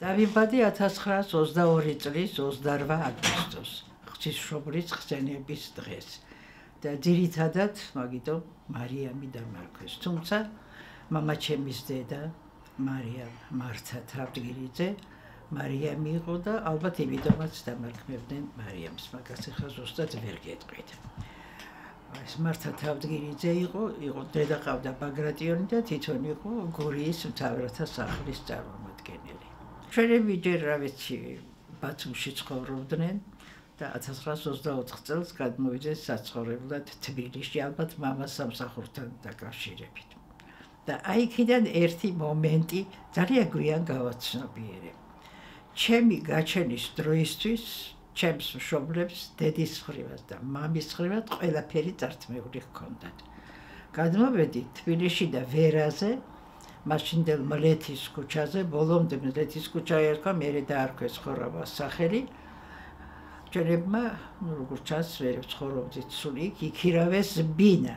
დავიბადე 1922 წლის 28 აგვისტოს, ღვთისმშობლის ხსენების დღეს. და ძირითადად მაგიტომ მარიამი დამარქვეს. თუმცა მამაჩემის დედა მარიამ მართა თავდგირიძე მარიამი იყო და ალბათ იმიტომაც დამარქმევდნენ მარიამს, მაგას ახლა ზუსტად ვერ გეტყვით. ეს მართა თავდგირიძე იყო დედა ყავდა ბაგრატიონი და თვითონ იყო გურიის მთავრთა სახლის წარმომადგენელი. ჩვენები ჯერ რა ვიცი ბათუმში ცხოვრობდნენ და 1924 წელს გადმოვიდნენ საცხოვრებლად თბილისში, ალბათ მამას სამსახურთან დაკავშირებით. და აი იქიდან ერთი მომენტი ძალიან გვიან გავაცნობიერე. ჩემი გაჩენის დროისთვის ჩემს მშობლებს დედის მხრივად და მამის მხრივად ყველაფერი წართმეული ჰქონდათ. გადმოვედი თბილისში და ვერაზე, მაშინდელ მლეთის ქუჩაზე, ბოლომდე მლეთის ქუჩა ერქვა, მერე დაარქვეს ხორავას სახელი. ჩვენებმა, როგორც ჩანს, ვერ ცხოვრობდით სულ იქ, იქირავეს ბინა,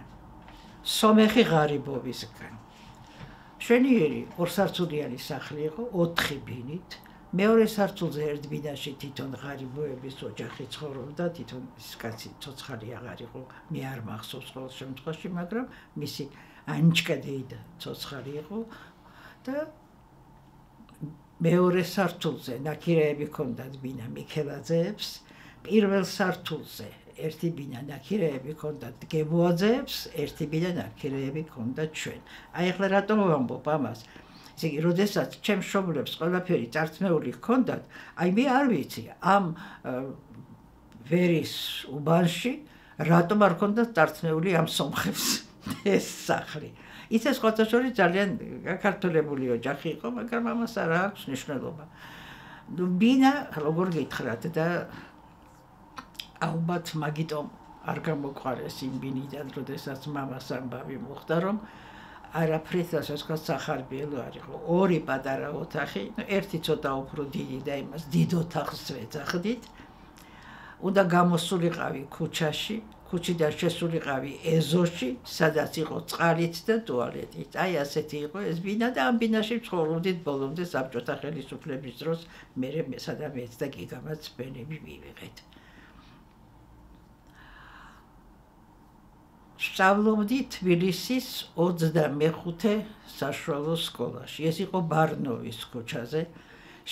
სომეხი ღარიბოვისგან. მშვენიერი ორსართულიანი სახლი იყო 4 ბინით. მეორე სართულზე ერთ ბინაში თვითონ ღარიბოების ოჯახი ცხოვრობდა, თვითონ ის კაცი ცოცხალი აღარ იყო, მე არ მახსოვს ყოველ შემთხვევაში, მაგრამ მისი ანჩკა დეიდა ცოცხალი იყო და მეორე სართულზე ნაკირეები ჰქონდათ ბინა მიქელაძეებს, პირველ სართულზე ერთი ბინა ნაკირეები ჰქონდათ გებოაძეებს, ერთი ბინა ნაკირეები ჰქონდათ ჩვენ. აი ახლა რატომ ვამბობ ამას? ისე იგი, როდესაც ჩემს მშობლებს ყველაფერი წართმეული ჰქონდათ, აი მე არ ვიცი, ამ ვერის უბანში რატომ არ ჰქონდათ წართმეული ამ სომხებს ეს სახლი. ისე სხვათა შორის ძალიან გაქართველებული ოჯახი იყო, მაგრამ ამას არ აქვს მნიშვნელობა. ბინა როგორ გითხრათ და ალბათ მაგიტომ არ გამოყარეს იმ ბინიდან, როდესაც მამას ამბავი მოხდა, რომ არაფრით ასაკას სახარბიელო არ იყო. 2 პატარა ოთახი, ერთი ცოტა უფრო დიდი და იმას დიდ ოთახს ვეძახდით. უნდა გამოსულიყავი ქუჩაში, ქუჩიდან შესულიყავი ეზოში, სადაც იყო წყალით და ტუალეტით. აი ასეთი იყო ეს ბინა და ამ ბინაში ცხოვრობდით ბოლომდე საბჭოთა ხელისუფლების დროს, მერე სადამეც და გიგამაც ბენები მივიღეთ. სწავლობდი თბილისის 25 საშუალო სკოლაში. ეს იყო ბარნოვის ქუჩაზე.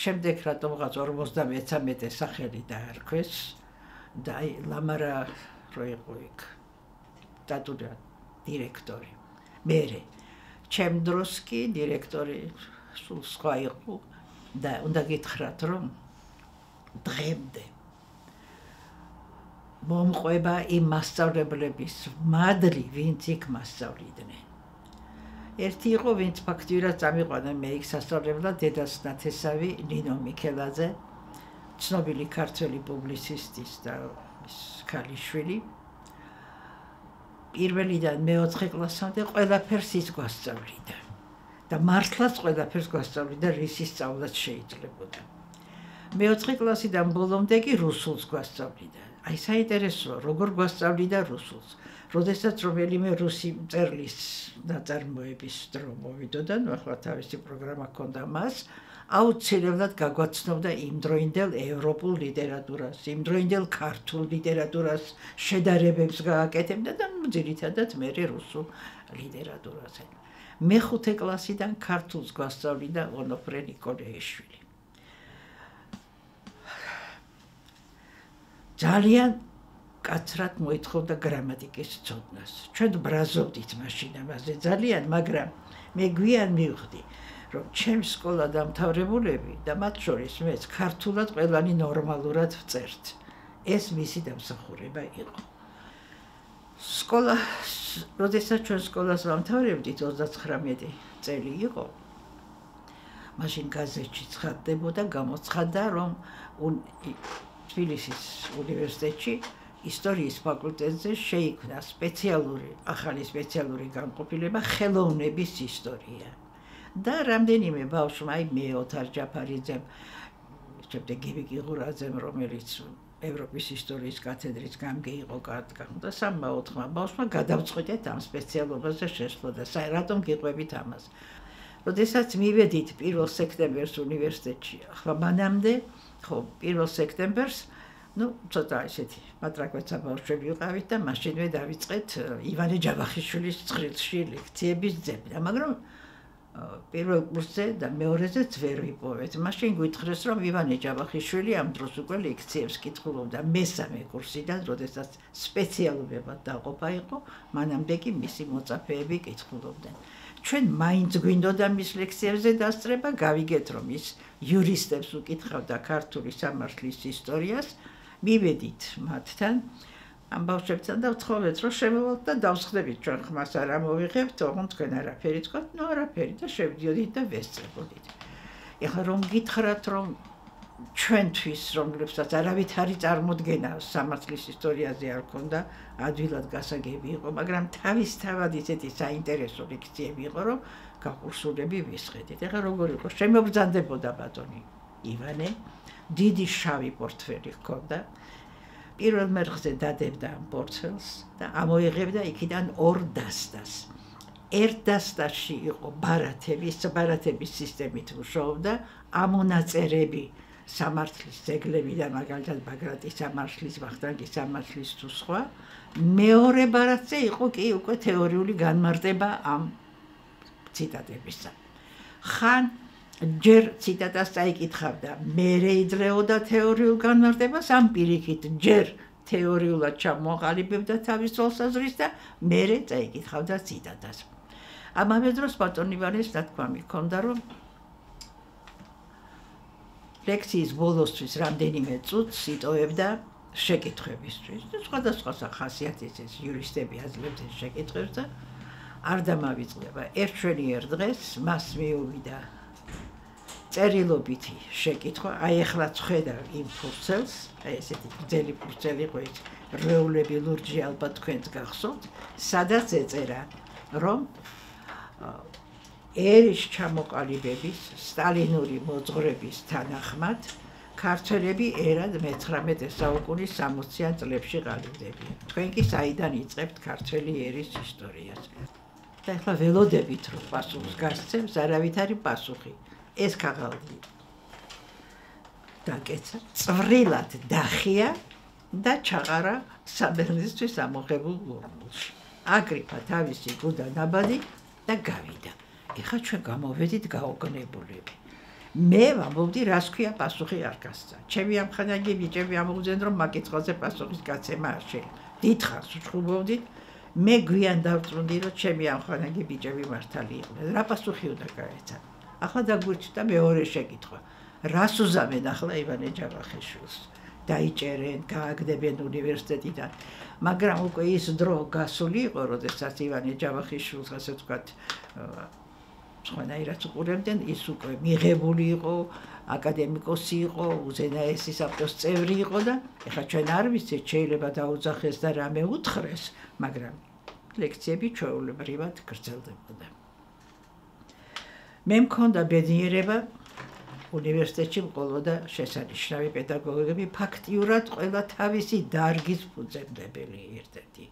შემდეგ რატომღაც 53 სახელი დაარქვეს და აი ლამარა რო იყო იქ დატუდა დირექტორი. მერე ჩემ დროს კი დირექტორი სულ სხვა იყო და უნდა გითხრათ, რომ დღემდე მომყვება იმ მასწავლებლების მადლი, ვინც იქ მასწავლიდნენ. ერთი იყო, ვინც ფაქტიურად წამიყვანა მე იქ სასწავლებლად, დედას ნათესავი ნინო მიქელაძე, ცნობილი ქართველი პუბლიცისტის და ქალიშვილი. პირველიდან მე-4 კლასამდე ყველაფერს ის გვასწავლიდა და მართლაც ყველაფერს გვასწავლიდა, რისი სწავლაც შეიძლებოდა. მე-4 კლასიდან ბოლომდე კი რუსულს გვასწავლიდა. აი საინტერესოა, როგორ გვასწავლიდა რუსულს. როდესაც რომელიმე რუსი მწერლის ნაწარმოების დრო მოვიდოდა, ახლა თავისი პროგრამა ჰქონდა მას, აუცილებლად გაგვაცნობდა იმდროინდელ ევროპულ ლიტერატურას, იმდროინდელ ქართულ ლიტერატურას შედარებებს გააკეთებდა და ძირითადად მერე რუსულ ლიტერატურაზე. მე-5 კლასიდან ქართულს გვასწავლიდა ონოფრე ნიკოლეიშვილი. ძალიან კაცრად მოითხოვდა გრამატიკის ცოდნას. ჩვენ ბრაზობდით მაშინ ამაზე ძალიან, მაგრამ მე გვიან მივხვდი, რომ ჩემს სკოლა დამთავრებულები და მათ შორის მეც ქართულად ყველანი ნორმალურად ვწერთ. ეს მისი დამსახურება იყო. სკოლა, როდესაც ჩვენ სკოლას ვამთავრებდით, 39 წელი იყო. მაშინ გაზეთში ცხადდებოდა, გამოცხადდა, რომ თბილისის უნივერსიტეტში ისტორიის ფაკულტეტზე შეიქმნა ახალი სპეციალური განყოფილება ხელოვნების ისტორია. და რამდენიმე ბავშვმა, აი მე ოთარ ჯაფარიძემ, შემდეგ გივი ყიღურაძემ, რომელიც ევროპის ისტორიის კათედრის გამგე იყო და 3-4 ბავშვმა გადავწყვიტეთ ამ სპეციალობაზე შესვლა და რატომ გიყვებით ამას. როდესაც მივედით 1 სექტემბერს უნივერსიტეტში, ახლა მანამდე, ხო, 1 სექტემბერს, ცოტა ესეთი მატრაკვეცა ბავშვები ვიყავით და მაშინვე დავიწყეთ ივანე ჯავახიშვილის წხრილში ლექციების ძებნა, მაგრამ პირველ კურსზე და მეორეზეც ვერ ვიპოვეთ. მაშინ გვითხრეს, რომ ივანე ჯავახიშვილი ამ დროს უკვე ლექციებს კითხულობდა მესამე კურსიდან, როდესაც სპეციალობებად დაყოფა იყო, მანამდე კი მისი მოწაფეები კითხულობდნენ. ჩვენ მაინც გვინდოდა მის ლექციებზე დასწრება, გავიგეთ, რომ ის იურისტებს უკითხავდა ქართული სამართლის ისტორიას, მივედით მათთან, ამ ბავშვებთან და ვთხოვეთ, რომ შემოვალთ და დავსხდებით ჩვენ ხმას არ ამოვიღებთ, თუმცა თქვენ არაფერი თქვათ, არაფერი და შევდიოდით და ვესწრებოდით. ეხლა რომ გითხრათ, რომ ჩვენთვის, რომლებსაც არავითარი წარმოდგენა სამართლის ისტორიაზე არ ქონდა, ადვილად გასაგები იყო, მაგრამ თავისთავად ისეთი საინტერესო ლექციები იყო, რომ გაყურსულები ვისხედით. ეხლა როგორ იყო, შემობრძანდებოდა ბატონი ივანე, დიდი შავი პორტფელი ჰქონდა, პირველ მერხზე დადებდა ამ პორტფელს და ამოიღებდა იქიდან 2 დასტას. ერთ დასტაში იყო ბარათების სისტემით მუშაობდა, ამონაწერები სამართლის ძეგლები და მაგალითად ბაგრატის სამართლის, ვახტანგის სამართლის თუ სხვა. მეორე ბარათზე იყო კი უკვე თეორიული განმარტება ამ ციტატებისა. ხან ჯერ ციტატას წაიკითხავდა, მერე იძლეოდა თეორიულ განმარტებას, ამ პირიქით ჯერ თეორიულად ჩამოაყალიბებდა თავის თვალსაზრისს და მერე წაიკითხავდა ციტატას. ამავე დროს ბატონ ივანეს ნათქვამი ჰქონდა, რომ ლექციის ბოლოსთვის რამდენიმე წუთს იტოვებდა შეკითხვებისთვის. სხვადასხვა ხასიათის იურისტები აძლევდნენ შეკითხვებს და არ დამავიწყდება. ერთშვენიერ დღეს მას მიუვიდა წერილობითი შეკითხვა, აი ეხლაც ხედავ იმ ფურცელს, აი ესეთი გრძელი ფურცელი იყო ის, რვეულები ლურჯი ალბათ თქვენს გახსოვთ, სადაც ეწერა, რომ ერის ჩამოყალიბების, სტალინური მოძღვრების თანახმად ქართველები ერად მე-19 საუკუნის 60-იან წლებში ყალიბდებიან. თქვენ კი საიდან იწყებთ ქართველი ერის ისტორიას. და ეხლა ველოდებით რომ პასუხს გასცემს, არავითარი პასუხი. ეს ქაღალდი დაკეცა, წვრილად დახია და ჩაყარა საბერძნისთვის ამოღებულ ურმულში. აგრიფა თავისი გუდა ნაბადი და გავიდა. ეხლა ჩვენ გამოვედით გაოგნებულები. მე ვამბობდი, რას ქვია პასუხი არ გასცა. ჩემი ამხანაგი ბიჭები ამოუძენ, რომ მაგიწყალზე პასუხის გაცემა არ შეიძლება. დიდხანს ვჭუბობდით, მე გვიან დავწუნდი, რომ ჩემი ამხანაგი ბიჭები მართალი იყვნენ. რა პასუხი უნდა გაეცა? ახლა დაგვირჩნდა მეორე შეკითხვა. რას უზამენ ახლა ივანე ჯავახიშვილს? დაიჭერენ, გააგდებენ უნივერსიტეტიდან. მაგრამ უკვე ის დრო გასული იყო, როდესაც ივანე ჯავახიშვილს, ასე ვთქვათ, სხვანაირად უყურებდნენ, ის უკვე მიღებული იყო, აკადემიკოსი იყო, უზენაესი საბჭოს წევრი იყო და ეხლა ჩვენ არ ვიცით, შეიძლება დაუძახეს და რამე უთხრეს, მაგრამ ლექციები ჩვეულებრივად გრძელდებოდა. მე მქონდა ბედნიერება უნივერსიტეტში მყოლოდა შესანიშნავი პედაგოგები, ფაქტიურად ყველა თავისი დარგის ფუძემდებელი ერთ-ერთი.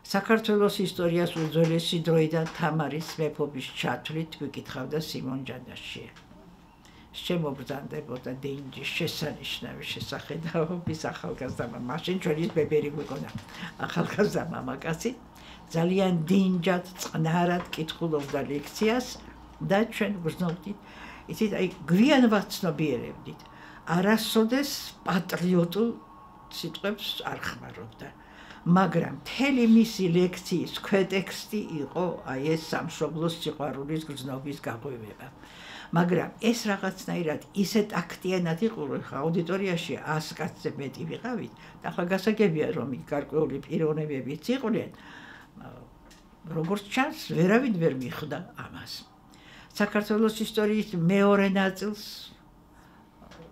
საქართველოს ისტორიას უძველესი დროიდან თამარის მეფობის ჩათვლით ვიკითხავდა სიმონ ჯანაშია. შემობრძანდებოდა დინჯის შესანიშნავი შესახედაობის ახალგაზრდა მამა. მაშინ ჩვენის ბებერი გვიყონა ახალგაზრდა მამაკაცი. ძალიან დინჯად, წყნარად კითხულობდა ლექციას და ჩვენ გრძნობდით, იცით, აი გვიან ვაცნობიერებდით. არასოდეს პატრიოტულ სიტყვებს არ ხმარობდა. მაგრამ მთელი მისი ლექციის ქვეტექსტი იყო აი ეს სამშობლოს სიყვარულის გრძნობის გაღვივება. მაგრამ ეს რაღაცნაირად ისეთ აქტიანად იყო, რომ აუდიტორიაში 100 კაცზე მეტი ვიყავით და ახლა გასაგებია, რომ გარკვეული პიროვნებებიც იყვნენ, როგორც ჩანს, ვერავინ ვერ მიხვდა ამას. საქართველოს ისტორიის მეორე ნაწილს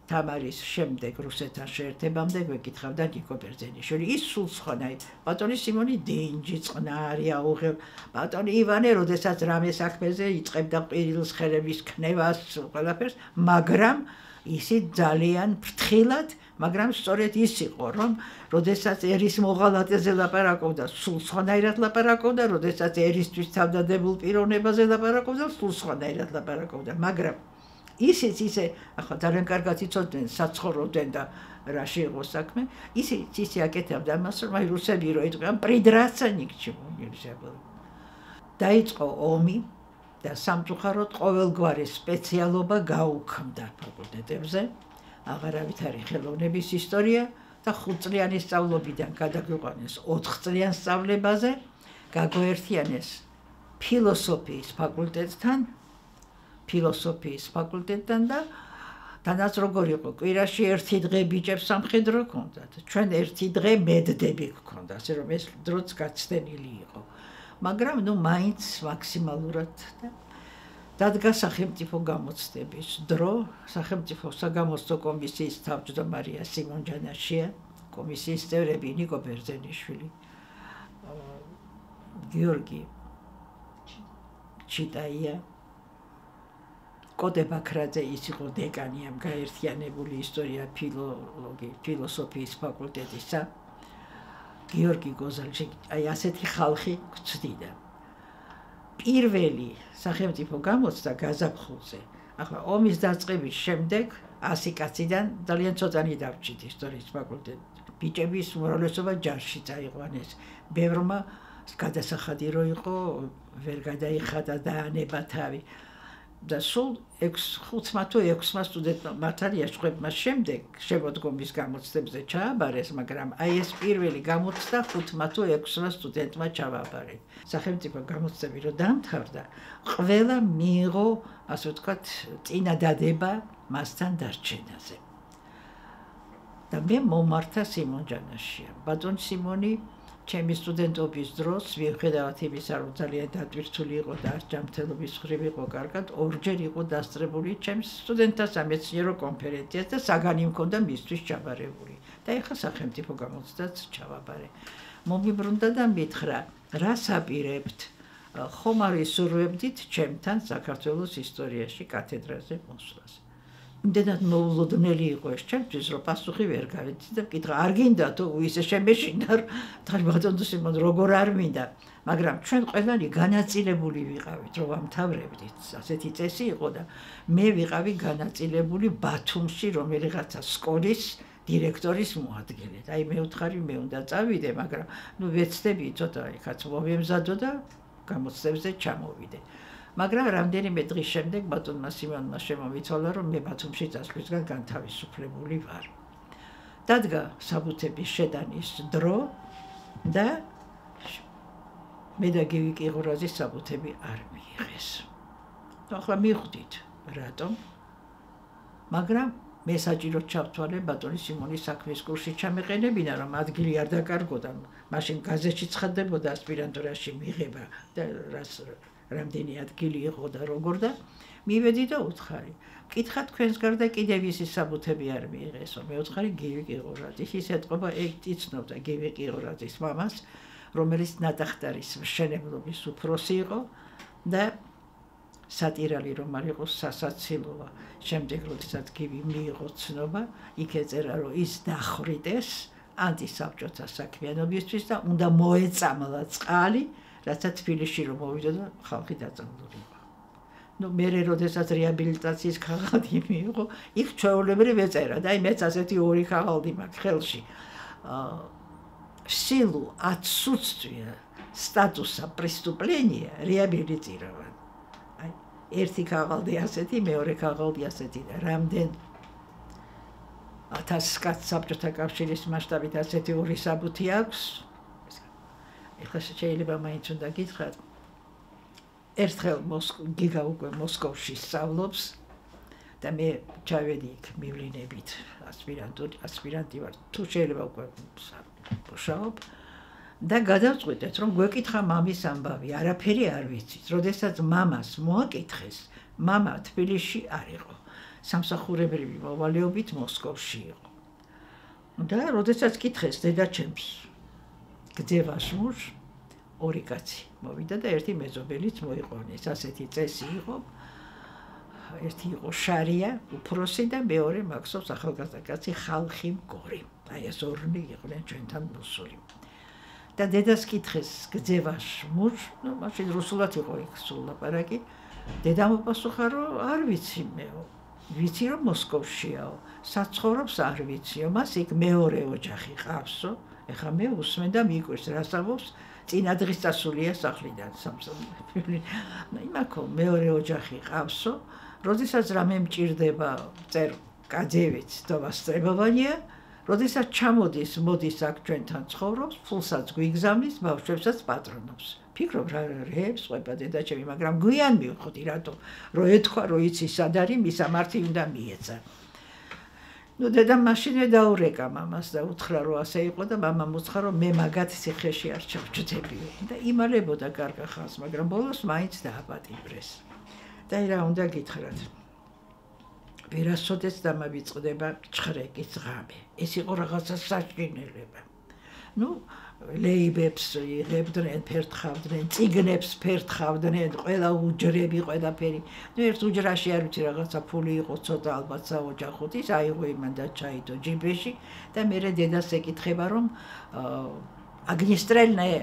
თამარის შემდეგ რუსეთთან შეერთებამდე გვეკითხავდა ნიკო ბერძენიშვილი. ის სულ სხვანაირად. ბატონი სიმონი დინჯი, წყნარი, აუღებ. ბატონი ივანე, როდესაც რამე საქმეზე იწყებდა ყვირილს, ხელების ქნევას, ყველაფერს, მაგრამ ისიც ძალიან ფრთხილად, მაგრამ სწორედ ის იყო, რომ როდესაც ერის მოღალატეზე ლაპარაკობდა, სულ სხვანაირად ლაპარაკობდა, როდესაც ერისთვის თავდადებულ პიროვნებაზე ლაპარაკობდა, სულ სხვანაირად ლაპარაკობდა, მაგრამ ისიც ისე, ახლა ძალიან კარგად იცოდნენ, საცხოვრობდნენ და რაში იყო საქმე, ისიც ისე აკეთებდა ამას, რომ აი რუსები რო იყვნენ, პრიდრაცა ნიქჩემო ნельзя было. დაიწყო ომი და სამწუხაროდ ყოველგვარი სპეციალობა გაუქმდა ფაკულტეტებზე, აღარავით არის ხელოვნების ისტორია და 5 წლიანი სწავლობიდან გადაგვიყვანეს 4 წლიან სწავლებაზე, გაგვაერთიანეს ფილოსოფიის ფაკულტეტთან და თანაც როგორ იყო, კვირაში ერთი დღე ბიჭებს სამხედრო ჰქონდათ, ჩვენ ერთი დღე მედდები ჰქონდა, ასე რომ ეს დროც გაცდენილი იყო. მაგრამ მაინც მაქსიმალურად დადგა სახელმწიფო გამოცდების დრო, სახელმწიფო საგამოცდო კომისიის თავმჯდომარეა სიმონ ჯანაშია, კომისიის წევრები ნიკო ბერძენიშვილი, გიორგი ჩიტაია, კოტე ბაქრაძე, ის იყო დეკანი ამ გაერთიანებული ისტორია ფილოსოფიის ფაკულტეტისა, გიორგი გოზალჩი, აი ასეთი ხალხი გვწდიდა. პირველი სახელმწიფო გამოცდა გაზაფხულზე. ახლა ომის დაწყების შემდეგ 100 კაციდან ძალიან ცოტანი დავჭით ისტორიის ფაკულტეტში. ბიჭების უმრავლესობა ჯარში წაიყვანეს. ბევრმა გადასახადი რო იყო, ვერ გადაიხადა დაანება თავი. და სულ 500 თუ 600 სტუდენტმა მართალია შევებმა შემდეგ შემოდგომის გამოცდებზე ჩააბარეს, მაგრამ აი ეს პირველი გამოცდა 500 თუ 600 სტუდენტმა ჩააბარეს. სახელმწიფო გამოცდები რო დამთავრდა, ყველა მიიღო, ასე ვთქვათ, წინადადება მასთან დარჩენაზე. და მე მომართა სიმონ ჯანაშია. ბატონ სიმონი ჩემი სტუდენტობის დროს, მიუხედავად იმისა, რომ ძალიან დატვირთული იყო და ჯანმრთელობის მხრივ იყო კარგად, ორჯერ იყო დასწრებული ჩემს სტუდენტთა სამეცნიერო კონფერენციას და საგანი მქონდა მისთვის ჩაბარებული. და ეხლა სახელმწიფო გამოცდაც ჩავაბარე. მომიბრუნდა და მითხრა, რას აპირებთ? ხომ არ ისურვებდით ჩემთან საქართველოს ისტორიაში კათედრაზე მოსვლას. იმდენად მოულოდნელი იყო ეს ჩემთვის, რომ პასუხი ვერ გავეცი და ვკითხა, არ გინდა თუ ისე შემეშინდა, ბატონ სიმონ, როგორ არ მინდა, მაგრამ ჩვენ ყველანი განაწილებული ვიყავით, რომ ვამთავრებდით. ასეთი წესი იყო და მე ვიყავი განაწილებული ბათუმში, რომელიღაცა სკოლის დირექტორის მოადგილედ. აი მე ვთხარი, მე უნდა წავიდე, მაგრამ ვეცდები ცოტა იქაც მომემზადო და გამოცდებზე ჩამოვიდე. მაგრამ რამდენიმე დღის შემდეგ ბატონმა სიმონმა შემომიცვალა, რომ მე ბათუმში წასვლისგან განთავისუფლებული ვარ. დადგა საბუთების შეტანის დრო და მე და გივი კიღურაძის საბუთები არ მიიღეს. ახლა მივხვდით რატომ, მაგრამ მე საჭიროდ ჩავთვალე ბატონი სიმონის საქმის კურსში ჩამეყენებინა, რომ ადგილი არ დაკარგოდა, მაშინ გაზეთში ცხადდებოდა ასპირანტურაში მიღება და რამდენი ადგილი იყო და როგორ და მივედი და უთხარი. მკითხა თქვენს გარდა კიდევ ისი საბუთები არ მიიღესო. მე უთხარი გივი კიღურაძის, ის ეთყობა იცნობდა გივი კიღურაძის მამას, რომელიც ნატახტარის მშენებლობის უფროსი იყო და სატირალი რომ არ იყოს სასაცილოა. შემდეგ როდესაც გივი მიიღო ცნობა, იქ ეწერა, რომ ის დახვრიტეს ანტისაბჭოთა საქმიანობისთვის და უნდა მოეწამლა წყალი, რაცა თბილისში რომ მოვიდა და ხალხი დაწამული იყო. მერე როდესაც რეაბილიტაციის ქაღალდი მიიღო, იქ ჩვეულებრივ ეწერა და აი მეც ასეთი ორი ქაღალდი მაქვს ხელში. В силу отсутствия статуса преступления реабилитирован. Აი ერთი ქაღალდი ასეთი, მეორე ქაღალდი ასეთი და რამდენ 1000 კაცს საბჭოთა კავშირის მასშტაბით ასეთი ორი საბუთი აქვს. ეხლა შეიძლება მაინც უნდა გითხრათ, ერთხელ გიგა უკვე მოსკოვში სწავლობს და მე ჩავედი იქ მივლინებით ასპირანტი ვარ, თუ შეიძლება უკვე მუშაობ და გადავწყვიტეთ, რომ გვეკითხა მამის ამბავი, არაფერი არ ვიცით. როდესაც მამას მოაკითხეს, მამა თბილისში არ იყო, სამსახურებრივი მოვალეობით მოსკოვში იყო. და როდესაც კითხეს დედაჩემს, გძევას მუშ, ორი კაცი მოვიდა და ერთი მეზობელიც მოიყვანეს. ასეთი წესი იყო. ერთი იყო შარია, უფროსი და მეორე მაქსობს ახალგაზრდა კაცი ხალხი მგორი. აი ეს ორნი იყვნენ ჩვენთან მოსული. და დედას კითხეს გძევაშ მურ, მაშინ რუსულად იყო იქ სულ ლაპარაკი. დედამ უპასუხა, რომ არ ვიცი მეო. ვიცი რომ მოსკოვშიაო, საცხოვრობს არ ვიციო, მას იქ მეორე ოჯახი ყავსო. ეხლა მე უსმენ და მიკვირს რას ამბობს, წინა დღის წასულია სახლიდან სამსახური. იმაქო მეორე ოჯახი ყავსო, როდესაც რამე მჭირდება, წერ კაძევიც დავასწრებავანია, როდესაც ჩამოდის, მოდის აქ ჩვენთან ცხოვრობს, ფულსაც გვიგზავნის, ბავშვებსაც პატრონობს. ფიქრობ რა რეებს ყვება დედაჩემი, მაგრამ გვიან მივხვდი რატო, რომ ეთქვა, რომ იცი სად არის, მისამართი უნდა მიეცა. ნუ დედამ მაშინვე დაურეკა მამას და უთხრა, რომ ასე იყო და მამამ უცხა, რომ მე მაგათ ციხეში არ ჩავჯდებიო. და იმალებოდა კარგა ხანს, მაგრამ ბოლოს მაინც დააპატიმრეს. და რა უნდა გითხრათ. ვერასოდეს დამავიწყდება ჭხრეკის ღამე. ეს იყო რაღაცა საჭინელება. ნუ ლეიბებს იღებდნენ, ფერთხავდნენ, წიგნებს ფერთხავდნენ, ყველა უჯრები, ყველაფერი. ნუ ერთ უჯრაში არ ვიცი რაღაცა ფული იყო, ცოტა ალბათ საოჯახოდ, ის აიღო იმან და ჩაიდო ჯიბეში და მერე დედას ეკითხება, რომ აგნისტრელნაe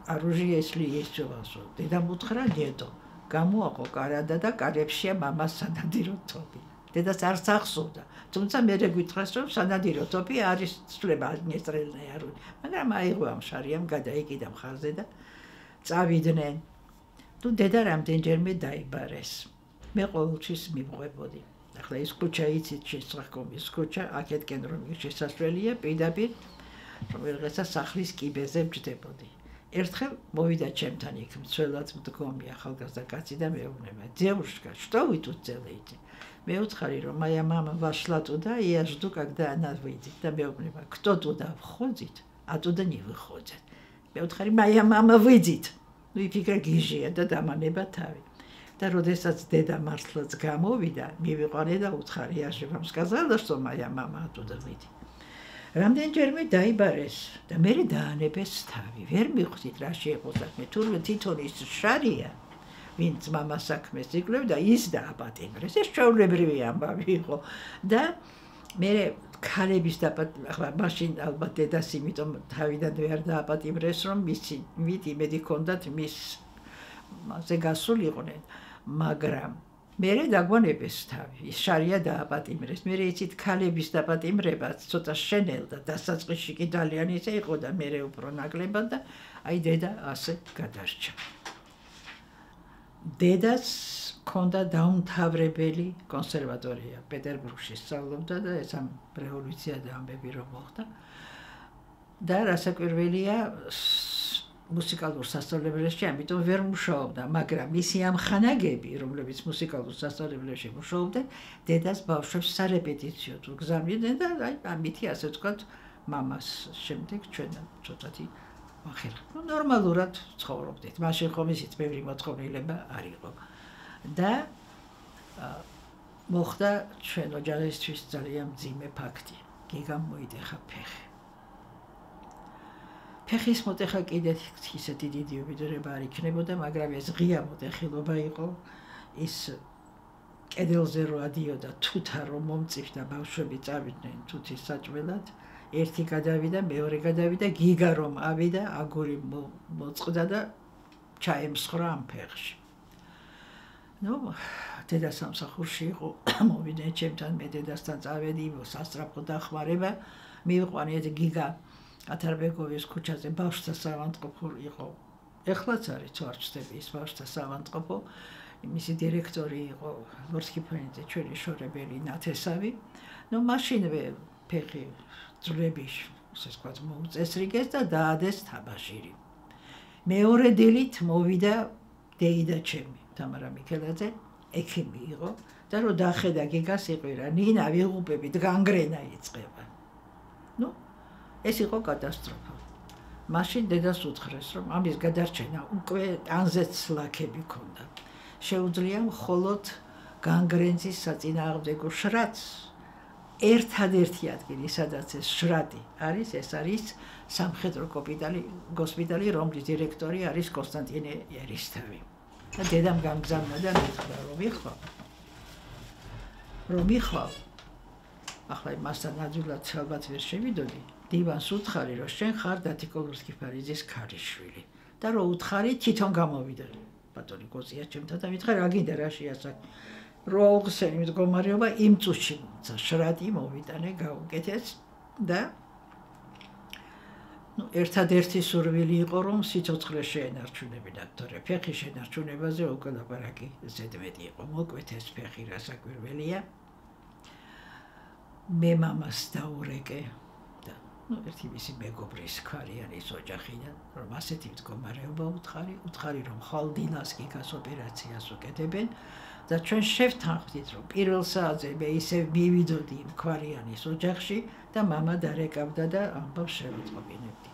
оружие, если есть у вас. დედამ უთხრა, დედო, გამოაყო კარადა და კარებშია მამას სანადირო თოფი. დედას არც ახსოვდა. თუმცა მე გითხრას, რომ სანადირო თოფი არის ცვლება აგნისტრელნაe არ ვიცი. მაგრამ აიღო ამ შარიამ, გადაიკიდა მხარზე და წავიდნენ. თუ დედა რამდენჯერმე დაიბარეს. მე ყოველთვის მივყვებოდი. ახლა ეს ქუჩა იცით შესაძღომის ქუჩა, აქეთკენ რომ შესასვლელია, პირდაპირ რომელიღაცა სახლის კიბეზე ვჯდებოდი. ერთხელ მოვიდა ჩემთან იქ მცველად მდგომი ახალგაზრდა каци და მეუბნება: "Девушка, что вы тут делаете?" მე უცხარი რომ моя мама вошла туда, и я жду, когда она выйдет. და მეუბნება: "Кто туда входит, оттуда не выходит." მე უცხარი: "Моя мама выйдет." ну и ფიქრე გიჟია და დამანება თავი. და როდესაც დედა მართლაც გამოვიდა, მივიყვანე და უცხარი: "Я же вам сказала, что моя мама оттуда выйдет." რამდენჯერმე დაიბარეს და მე დაანებეს თავი. ვერ მივხვდით რა შეეყო საქმე. თურმე თვითონ ის შარია, ვინც მამას საქმეს იკვლევდა, ის დააპატიმრეს. ეს ჩვეულებრივი ამბავი იყო. და მე ქალების ახლა მაშინ ალბათ დედას იმიტომ თავიდან ვერ დააპატიმრეს, რომ მით იმედი ჰქონდათ მასზე გასულიყვნენ, მაგრამ მერე დაგვანებეს თავი. ის შარია დააპატიმრეს. მერე იცით ქალების დაპატიმრებაც ცოტა შენელდა, დასაწყისში კი ძალიან ისე იყო და მერე უფრო ნაკლებად და აი დედა ასე გადარჩა. დედას ჰქონდა დაუმთავრებელი კონსერვატორია პეტერბურგში სწავლობდა და ეს ამ რევოლუციაზე ამბები რომ მოხდა. და რასაკვირველია მუსიკალურ სასწავლებელში, ამიტომ ვერ მუშაობდა, მაგრამ ისი ამ ხანაგები, რომლებიც მუსიკალურ სასწავლებელში მუშაობდნენ, დედას ბავშვებს სარეპეტიციოდ უგზავნიდნენ და აი ამითი ასე ვთქვათ, მამას შემდეგ ჩვენ ცოტათი ვახერხეთ. ნუ ნორმალურად ცხოვრობდით. მაშინ ხომ ისიც ბევრი მოთხოვნილება არ იყო. და მოხდა ჩვენ ოჯახისთვის ძალიან მძიმე ფაქტი. გიგამ მოიდეხა ფეხი. ფეხის მოტეხა კიდეთ ისეთი დიდი უბედურება არ იქნებოდა, მაგრამ ეს ღია მოტეხილობა იყო. ის კედელზე რო ადიოდა თუთა რომ მომწიფდა ბავშვები წავიდნენ თუთის საჭმელად, ერთი გადავიდა, მეორე გადავიდა, გიგა რომ ავიდა, აგური მოწყდა და ჩაემსხრა ამ ფეხში. ნუ დედა სამსახურში იყო, მოვიდნენ ჩემთან, მე დედასთან წავედი, სასწრაფო დახმარება, მივიყვანე გიგა ათარბეგოვის ქუჩაზე ბავშვთა საავადმყოფო იყო. ეხლაც არის თუ არ ვწდები ის ბავშვთა საავადმყოფო. მისი დირექტორი იყო ლორსკიფანიძე, ჩვენი შორებელი ნათესავი. ნუ მაშინვე ფეხი ძვლების ასე ვთქვათ მოუწესრიგეს და დაადეს თაბაშირი. მეორე დილით მოვიდა დეიდა ჩემი, თამარა მიქელაძე, ექიმი იყო და რომ დახედა გიგას იყვირა, ნინა ვიღუპებით განგრენა იწყება. ნუ ეს იყო კატასტროფა. მაშინ დედას უთხრეს, რომ ამის გადარჩენა უკვე ტანზეც ლაქები ქონდა. შეუძლია მხოლოდ განგრენზის საწინააღმდეგო შრატს ერთადერთი ადგილი, სადაც ეს შრატი არის, ეს არის სამხედრო ჰოსპიტალი, რომლის დირექტორი არის კონსტანტინე ერისთავი. და დედამ გამგზავნა და მითხრა, რომ იხო რომ მიხვალ ახლა მასთან ნაძულად ალბათ ვერ შევიდოდი დივანს უთხარი რომ შენ ხარ დათიკოლურსკიფარიძის ქალიშვილი და რომ უთხარი თვითონ გამოვიდა ბატონი გოწია ჩემთან და მითხრა რა გინდა რა შეასაკ რო აუხსენი მდგომარეობა იმ წუთში შრატი მოვიტანე გაუკეთეს და ერთადერთი სურვილი იყო რომ სიცოცხლე შეენარჩუნებინა თორე ფეხი შენარჩუნებაზე უკვე ლაპარაკი ზედმეტი იყო მოკვეთეს ფეხი რასაკვირველია მე მამას დაურეკე და ერთი მისი მეგობრის ქვარიანის ოჯახიდან რომ ასეთი მდგომარეობა უთხარი რომ ხვალ დილას გიგას ოპერაციას უკეთებენ და ჩვენ შევთანხმდით რომ პირველ საათზე მე ისე მივიდოდი ქვარიანის ოჯახში და მამა დარეკავდა და ამბავს შევეწყობინებდი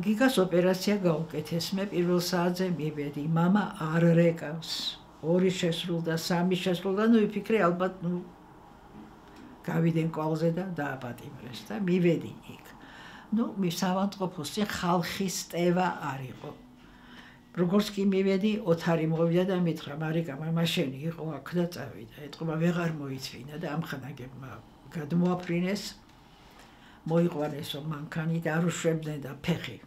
გიგას ოპერაცია გაუკეთეს მე პირველ საათზე მივედი მამა არ რეკავს 2 შესრულდა 3 შესრულდა ვიფიქრე ალბათ გავიდენ კვალზე და დააპატიმრეს და მივედი იქ მისავანტყოფოს წინ ხალხის ტევა არ იყო როგორც კი მივედი ოთარი მოვიდა და მითხრა მარიკა მამა შენი იყო აქ და წავიდა ეთყობა ვეღარ მოიწვინა და ამხანაგებმა გადმოაფრინეს მოიყვანესო მანქანი და არ უშვებდნენ და ფეხი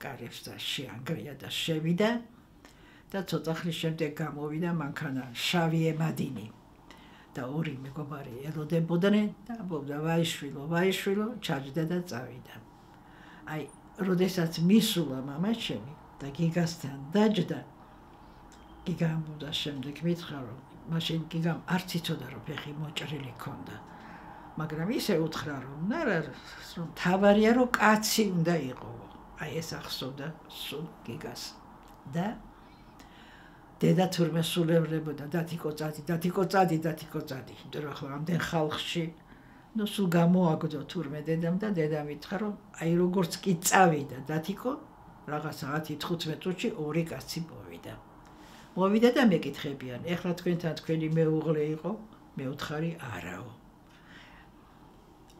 კარებს და შეანგრია და შევიდა და ცოტა ხნის შემდეგ გამოვიდა მანქანა შავი ემადინი და 2 მეგობარი ელოდებოდნენ და ამბობდა ვაიშვილო ჩაჯდა და წავიდა აი როდესაც მისულა მამა ჩემი და გიგასთან დაჯდა გიგა ამბობდა შემდეგ მითხრა რომ მაშინ გიგამ არც იცოდა რომ ფეხი მოჭრილი ქონდა მაგრამ ისე უთხრა რომ რომ თავარია რომ კაცი უნდა იყო აი ეს ახსოვდა სულ გიგას და დედა თურმე სულევრებოდა დათიკო წადი იმიტომ რომ ახლა ამდენ ხალხში სულ გამოაგდო თურმე დედამ და დედა მითხრა რომ აი როგორც კი წავიდა დათიკო რაღაცა 10-15 წუთში 2 კაცი მოვიდა და მეკითხებიან ეხლა თქვენთან თქვენი მეუღლე იყო მე უთხარი არაო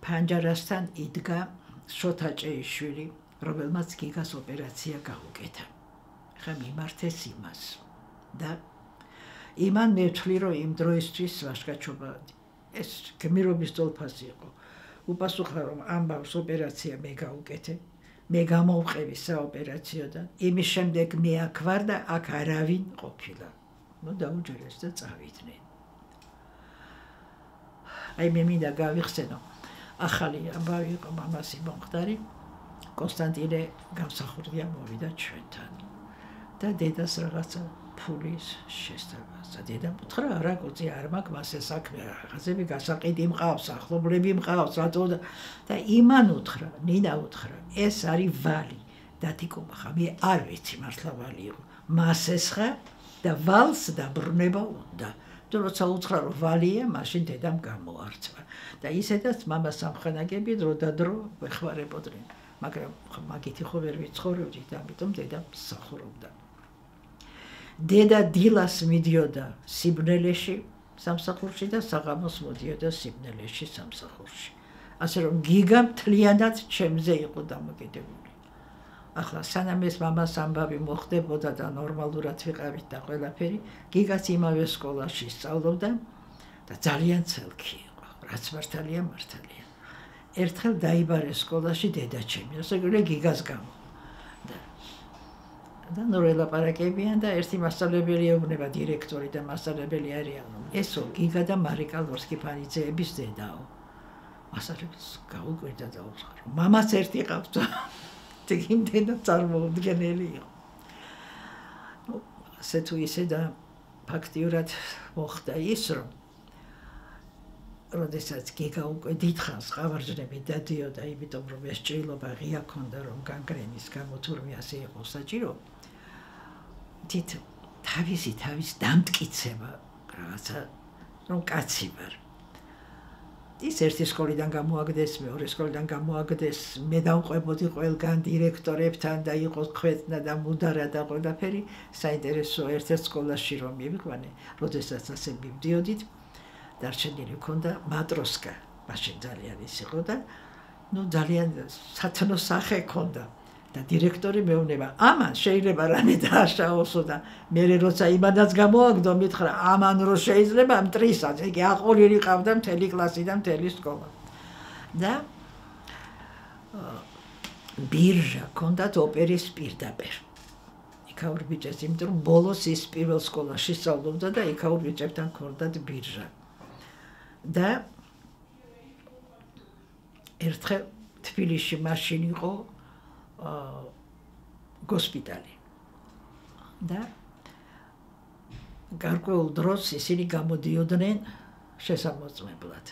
ფანჯარასთან იდგა შოთა ჭეიშვილი რომელმაც გიგას ოპერაცია გაუკეთა ხა მიმართეს იმას და იმან მეთვლი რომ იმ დროისთვის ვაშკაჩობა ეს გმირობის თოლფასი იყო უპასუხა რომ ამბავს ოპერაცია მე გაუკეთე მე გამოვყევი საოპერაციოდან იმის შემდეგ მე აქ ვარ და აქ არავინ ყოფილა დაუჯერეს და წავიდნენ აი მე მინდა გავიხსენო ახალი ამბავი იყო მამასი მომხდარი კონსტანტინე გამსახურდია მოვიდა ჩვენთან და დედას რაღაცა ფულის შესწავლასა დედამ უთხრა არა კოცი არ მაქვს მასე საქმე რაღაცები გასაყიდი მყავს ახლობლები მყავს რატო და იმან უთხრა ნინა უთხრა ეს არის ვალი დათიკო ხა მე არ ვიცი მართლა ვალი იყო მასეს ხა და ვალს დაბრუნება უნდა და როცა უთხრა რომ ვალია მაშინ დედამ გამოარცვა და ისედაც მამას ამხანაგები დრო და დრო ვეხმარებოდნენ მაგრამ მაგითი ხო ვერ ვიცხოვრობდით ამიტომ დედამ მსახურობდა დედა დილას მიდიოდა სიბნელეში სამსახურში და საღამოს მოდიოდა სიბნელეში სამსახურში ასე რომ გიგა მთლიანად ჩემზე იყო დამოკიდებული ახლა სანამ ეს მამას ამბავი მოხდებოდა და ნორმალურად ვიყავით და ყველაფერი გიგაც იმავე სკოლაში სწავლობდა და ძალიან ცელქი იყო რაც მართალია ერთხელ დაიბარეს სკოლაში დედა ჩემი ასე რომ გიგას გამო და ნორელაპარაკებიან და ერთი მასწავლებელი ეუბნება დირექტორი და მასწავლებელი არიან ესო გიგა და მარიკა ლორსკიფარიძეების დედაო მასწავლებს გაუკვირდა და უთხრა მამაც ერთი ყავდა ეგ დედა წარმოუდგენელი იყო ასე თუ ისე და ფაქტიურად მოხდა ის რომ როდესაც გიგა უკვე დიდხანს ყავარჯნები დადიოდა იმიტომ რომ ეს ჭრილობა ღია ქონდა რომ განგრენის გამო თურმე ასე იყო საჭირო თავის დამტკიცება რაღაცა რომ კაცი ვარ ის ერთი სკოლიდან გამოაგდეს მეორე სკოლიდან გამოაგდეს მე დავყვებოდი ყველგან დირექტორებთან და იყო ხვეთნა და მუდარა და ყველაფერი საინტერესო ერთ-ერთ სკოლაში რომ მივიყვანე როდესაც ასე მივდიოდით დარჩენილი ქონდა მატროსკა მაშინ ძალიან ის იყო და ძალიან სათნო სახე ქონდა და დირექტორი მეუბნება, ამან შეიძლება რამე დააშაოსო და მე როცა იმადაც გამოაგდო, მითხრა, ამან რო შეიძლება მტრისაც, იგი აყოლილი ყავდა მთელი კლასი და მთელი სკოლა. და ბირჟა ჰქონდათ ოპერის პირდაპირ. იქაურ ბიჭებს, იმიტომ რომ ბოლოს ის პირველ სკოლაში სწავლობდა და იქაურ ბიჭებთან ჰქონდათ ბირჟა. და ერთხელ თბილისში მაშინ იყო გოსპიტალი. და გარკვეულ დროს ისინი გამოდიოდნენ შესამოწმებლად.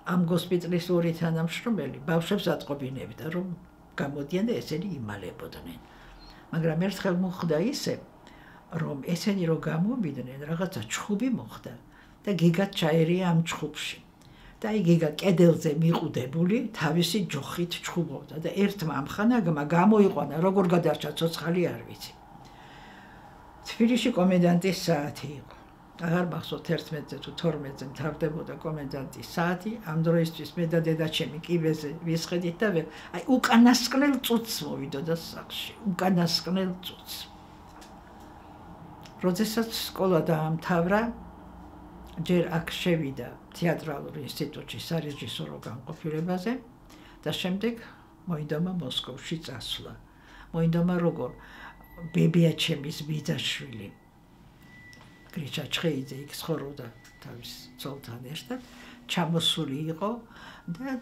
ამ გოსპიტალის ორი თანამშრომელი ბავშვებს ატყობინებდა, რომ გამოდიან და ესენი იმალებოდნენ. მაგრამ ერთხელ მოხდა ისე, რომ ესენი რო გამომიდნენ, რაღაცა ჩხუბი მოხდა და გიგად ჩაერია ამ ჩხუბში. და აი გიგა კედელზე მიყუდებული თავისი ჯოხით ჩხუბობდა და ერთმა ამხანაგმა გამოიყვანა, როგორ გადარჩა ცოცხალი არ ვიცი. თბილისში კომენდანტის საათი იყო. აღარ მახსოვს 11-ზე თუ 12-ზე მთავრდებოდა კომენდანტის საათი, ამ დროისთვის მე და დედაჩემი კიბეზე ვისხედით და აი უკანასკნელ წუთს მოვიდოდა სახლში, უკანასკნელ წუთს. როდესაც სკოლა დაამთავრა, ჯერ აქ შევიდა თეატრალურ ინსტიტუტში სარეჟისორო განყოფილებაზე და შემდეგ მოინდომა მოსკოვში წასვლა. მოინდომა როგორ ბებიაჩემის ბიძაშვილი გრიჩა ჩხეიძე იქ ცხოვრობდა თავის ცოლთან ერთად, ჩამოსული იყო და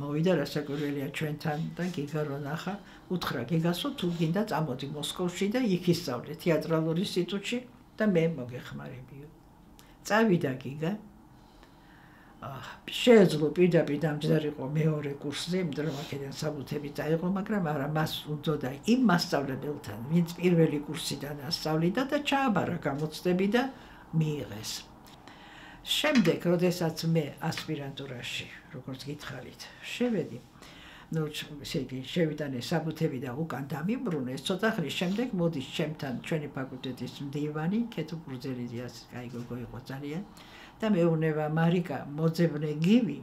მოვიდა რასაკვირველია ჩვენთან და გიგა რო ნახა, უთხრა გიგასო თუ გინდა წამოდი მოსკოვში და იქ ისწავლე თეატრალურ ინსტიტუტში და მე მოგეხმარებიო. წავიდა გიგა. შეეძლო პირდაპირ დამჯდარიყო მეორე კურსზე, იმიტომ რომ აქედან საბუთები წაიღო, მაგრამ არა, მას უნდოდა იმ მასწავლებელთან, ვინც პირველი კურსიდან ასწავლიდა და ჩააბარა გამოცდები და მიიღეს. შემდეგ, როდესაც მე ასპირანტურაში, როგორც გითხარით, შევედი, შევიტანე საბუთები და უკან დამიბრუნეს, ცოტა ხნის შემდეგ მოდის ჩემთან ჩვენი ფაკულტეტის მდივანი, ქეთო ბურძელიძე, კაი გოგო იყო ძალიან. და მეუბნება, მარიკა, მოძებნე გივი,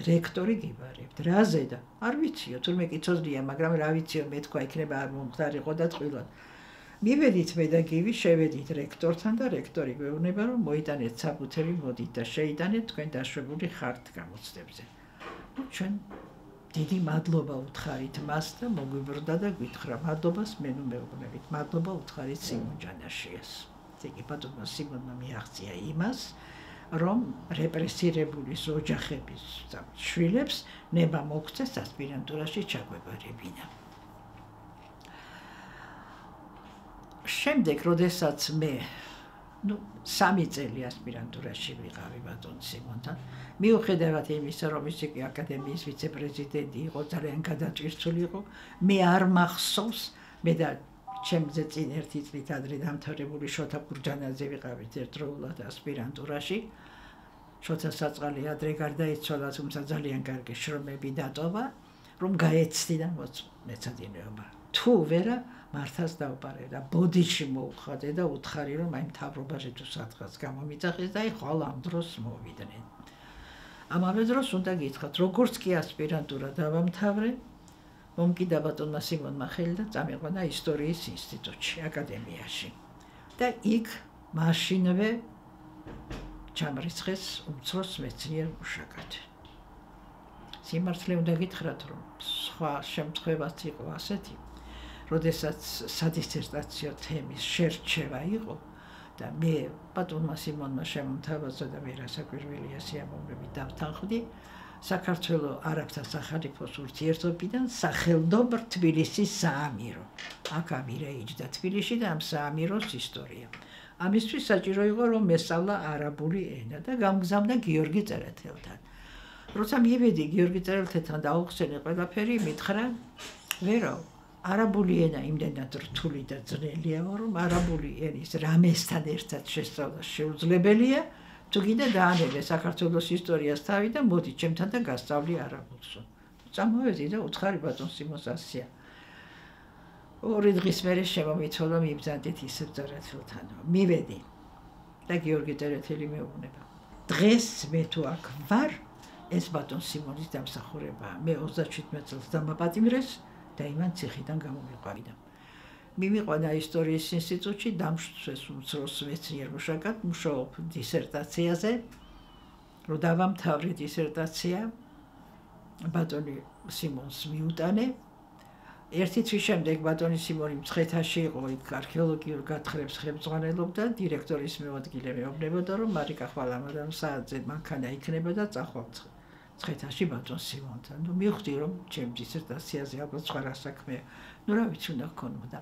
რექტორი გიბარებთ, რაზე და არ ვიციო, თურმე კიცოდია, მაგრამ რა ვიციო, მე თქვა იქნება არ მომხდარიყო და წყვილად. მივედით მე და გივი, შევედით რექტორთან და რექტორი მეუბნება, რომ მოიტანეთ საბუთები, მოდით და შეიტანეთ თქვენ დაშვებული ხართ გამოცდებზე. ჩვენ დიდი მადლობა უთხარით მას და მოგვიბრდა და გვითხრა, მადლობას მე ნუ მეუბნებით, მადლობა უთხარით სიმონ ჯანაშიას. იგი ბატონმა სიმონმა მიაღწია იმას, რომ რეპრესირებულის ოჯახების შვილებს ნება მოგცეს ასპირანტურაში ჩაგვეპარებინა. შემდეგ, როდესაც მე 3 წელი ასპირანტურაში ვიყავი ბატონ სიმონთან, მიუხედავად იმისა, რომ ის იგი აკადემიის ვიცე-პრეზიდენტი იყო, ძალიან გადაჭირცული იყო, მე არ მახსოვს, მე და ჩემზე წინ 1 წლით ადრე დამთავრებული შოთა გურჯანაძე ვიყავით ერთდროულად ასპირანტურაში. შოთა საწყალი ადრე გარდაიცვალა, თუმცა ძალიან კარგი შრომები დატოვა, რომ გაეცდიდა მეცადინეობა. თუ ვერა მართას დავპარე და ბოდიში მოუხადე და უთხარი, რომ აი მთავრობაში თუ სადღაც გამომიწახეს და აი ხვალ ამ დროს მოვიდნენ. ამავე დროს უნდა გითხრათ, როგორც კი ასპირანტურა დავამთავრე, მომკიდა ბატონმა სიმონმა ხელი და წამიყვანა ისტორიის ინსტიტუტში, აკადემიაში. და იქ მაშინვე ჩამრიცხეს უმცროს მეცნიერ მუშაკად. სიმართლე უნდა გითხრათ, რომ სხვა შემთხვევაც იყო ასეთი, როდესაც სადისერტაციო თემის შერჩევა იყო და მე ბატონმა სიმონმა შემომთავაზა და მე რასაკვირველია სიამოვნებით დავთანხმდი საქართველოს არაბთა სახალიფოს ურთიერთობიდან სახელმდობლ თბილისის საამირო. აქ ამირეიჯდა თბილისში და ამ საამიროს ისტორია. ამისთვის საჭირო იყო, რომ მესწავლა არაბული ენა და გამგზავნა გიორგი წერეთელთან. როცა მივედი გიორგი წერეთელთან დაუხსენე ყველაფერი, მითხრა, ვერო, არაბული ენა იმდენად რთული და ძნელია, რომ არაბული ენის რამესთან ერთად შესწავლა შეუძლებელია, თუ გინდა დაანებე საქართველოს ისტორიას თავი და მოდი ჩემთან და გასწავლი არაბულს. წამოვედი და უთხარი ბატონ სიმონს ასია. 2 დღის მერე შემომიცვალა მიბრძანდით ისევ წერეთელთან. მივედი და გიორგი წერეთელი მეუბნება. დღეს მე თუ აქ ვარ, ეს ბატონ სიმონის დამსახურებაა. მე 37 წელს დამაპატიმრეს, და იმან ციხიდან გამომიყვანა. მივიყვანა ისტორიის ინსტიტუტში, დამშვეს უმცროს მეცნიერ მუშაკად, მუშაობ დისერტაციაზე, რომ დავამთავრე დისერტაცია, ბატონი სიმონს მიუტანე. ერთი თვის შემდეგ ბატონი სიმონი მცხეთაში იყო, იქ არქეოლოგიურ გათხრებს ხელმძღვანელობდა, დირექტორის მეუადგილე მეუბნებოდა, რომ მარიკა ხვალ ამადამ საათზე მანქანა იქნება და წახვავ მცხეთაში ბატონ სიმონთან. მივხვდი, რომ ჩემ დისერტაციაზე ალბათ სხვა რა საქმეა. რა ვიცი, უნდა გქონოდა.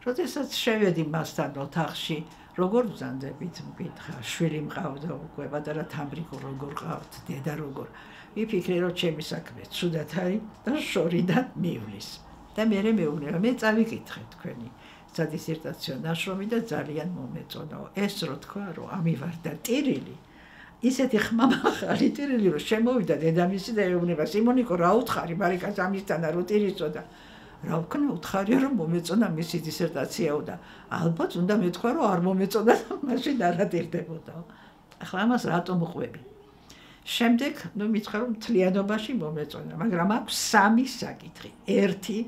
როდესაც შევედი მასთან ოთახში, როგორ ვზანდებით, მკითხა, შვილი მყავდა უკვე, პატარა თამრიკო როგორ ყავთ, დედა როგორ. ვიფიქრე, რომ ჩემი საქმე ცუდად არის და შორიდან მივლის. და მე მეუბნება, მე წავიკითხე თქვენი სადისერტაციო ნაშრომი და ძალიან მომეწონაო. ეს რო თქვა, რომ ამივარდა ტირილი, ისეთი ხმამაღალი ტირილი, რომ შემოვიდა დედამისი და ეუბნება, სიმონიკო, რა უთხარი, მარიკას ამისთანა რო ტირიცოდა. რა ვქნა, უთხარია, რომ მომეწონა მისი დისერტაციაო და ალბათ უნდა მეთქვა, რომ არ მომეწონა და მაშინ არ ატირდებოდაო. ახლა ამას რატომ ყვები? შემდეგ, მითხრა, რომ მთლიანობაში მომეწონა, მაგრამ აქვს სამი საკითხი. ერთი,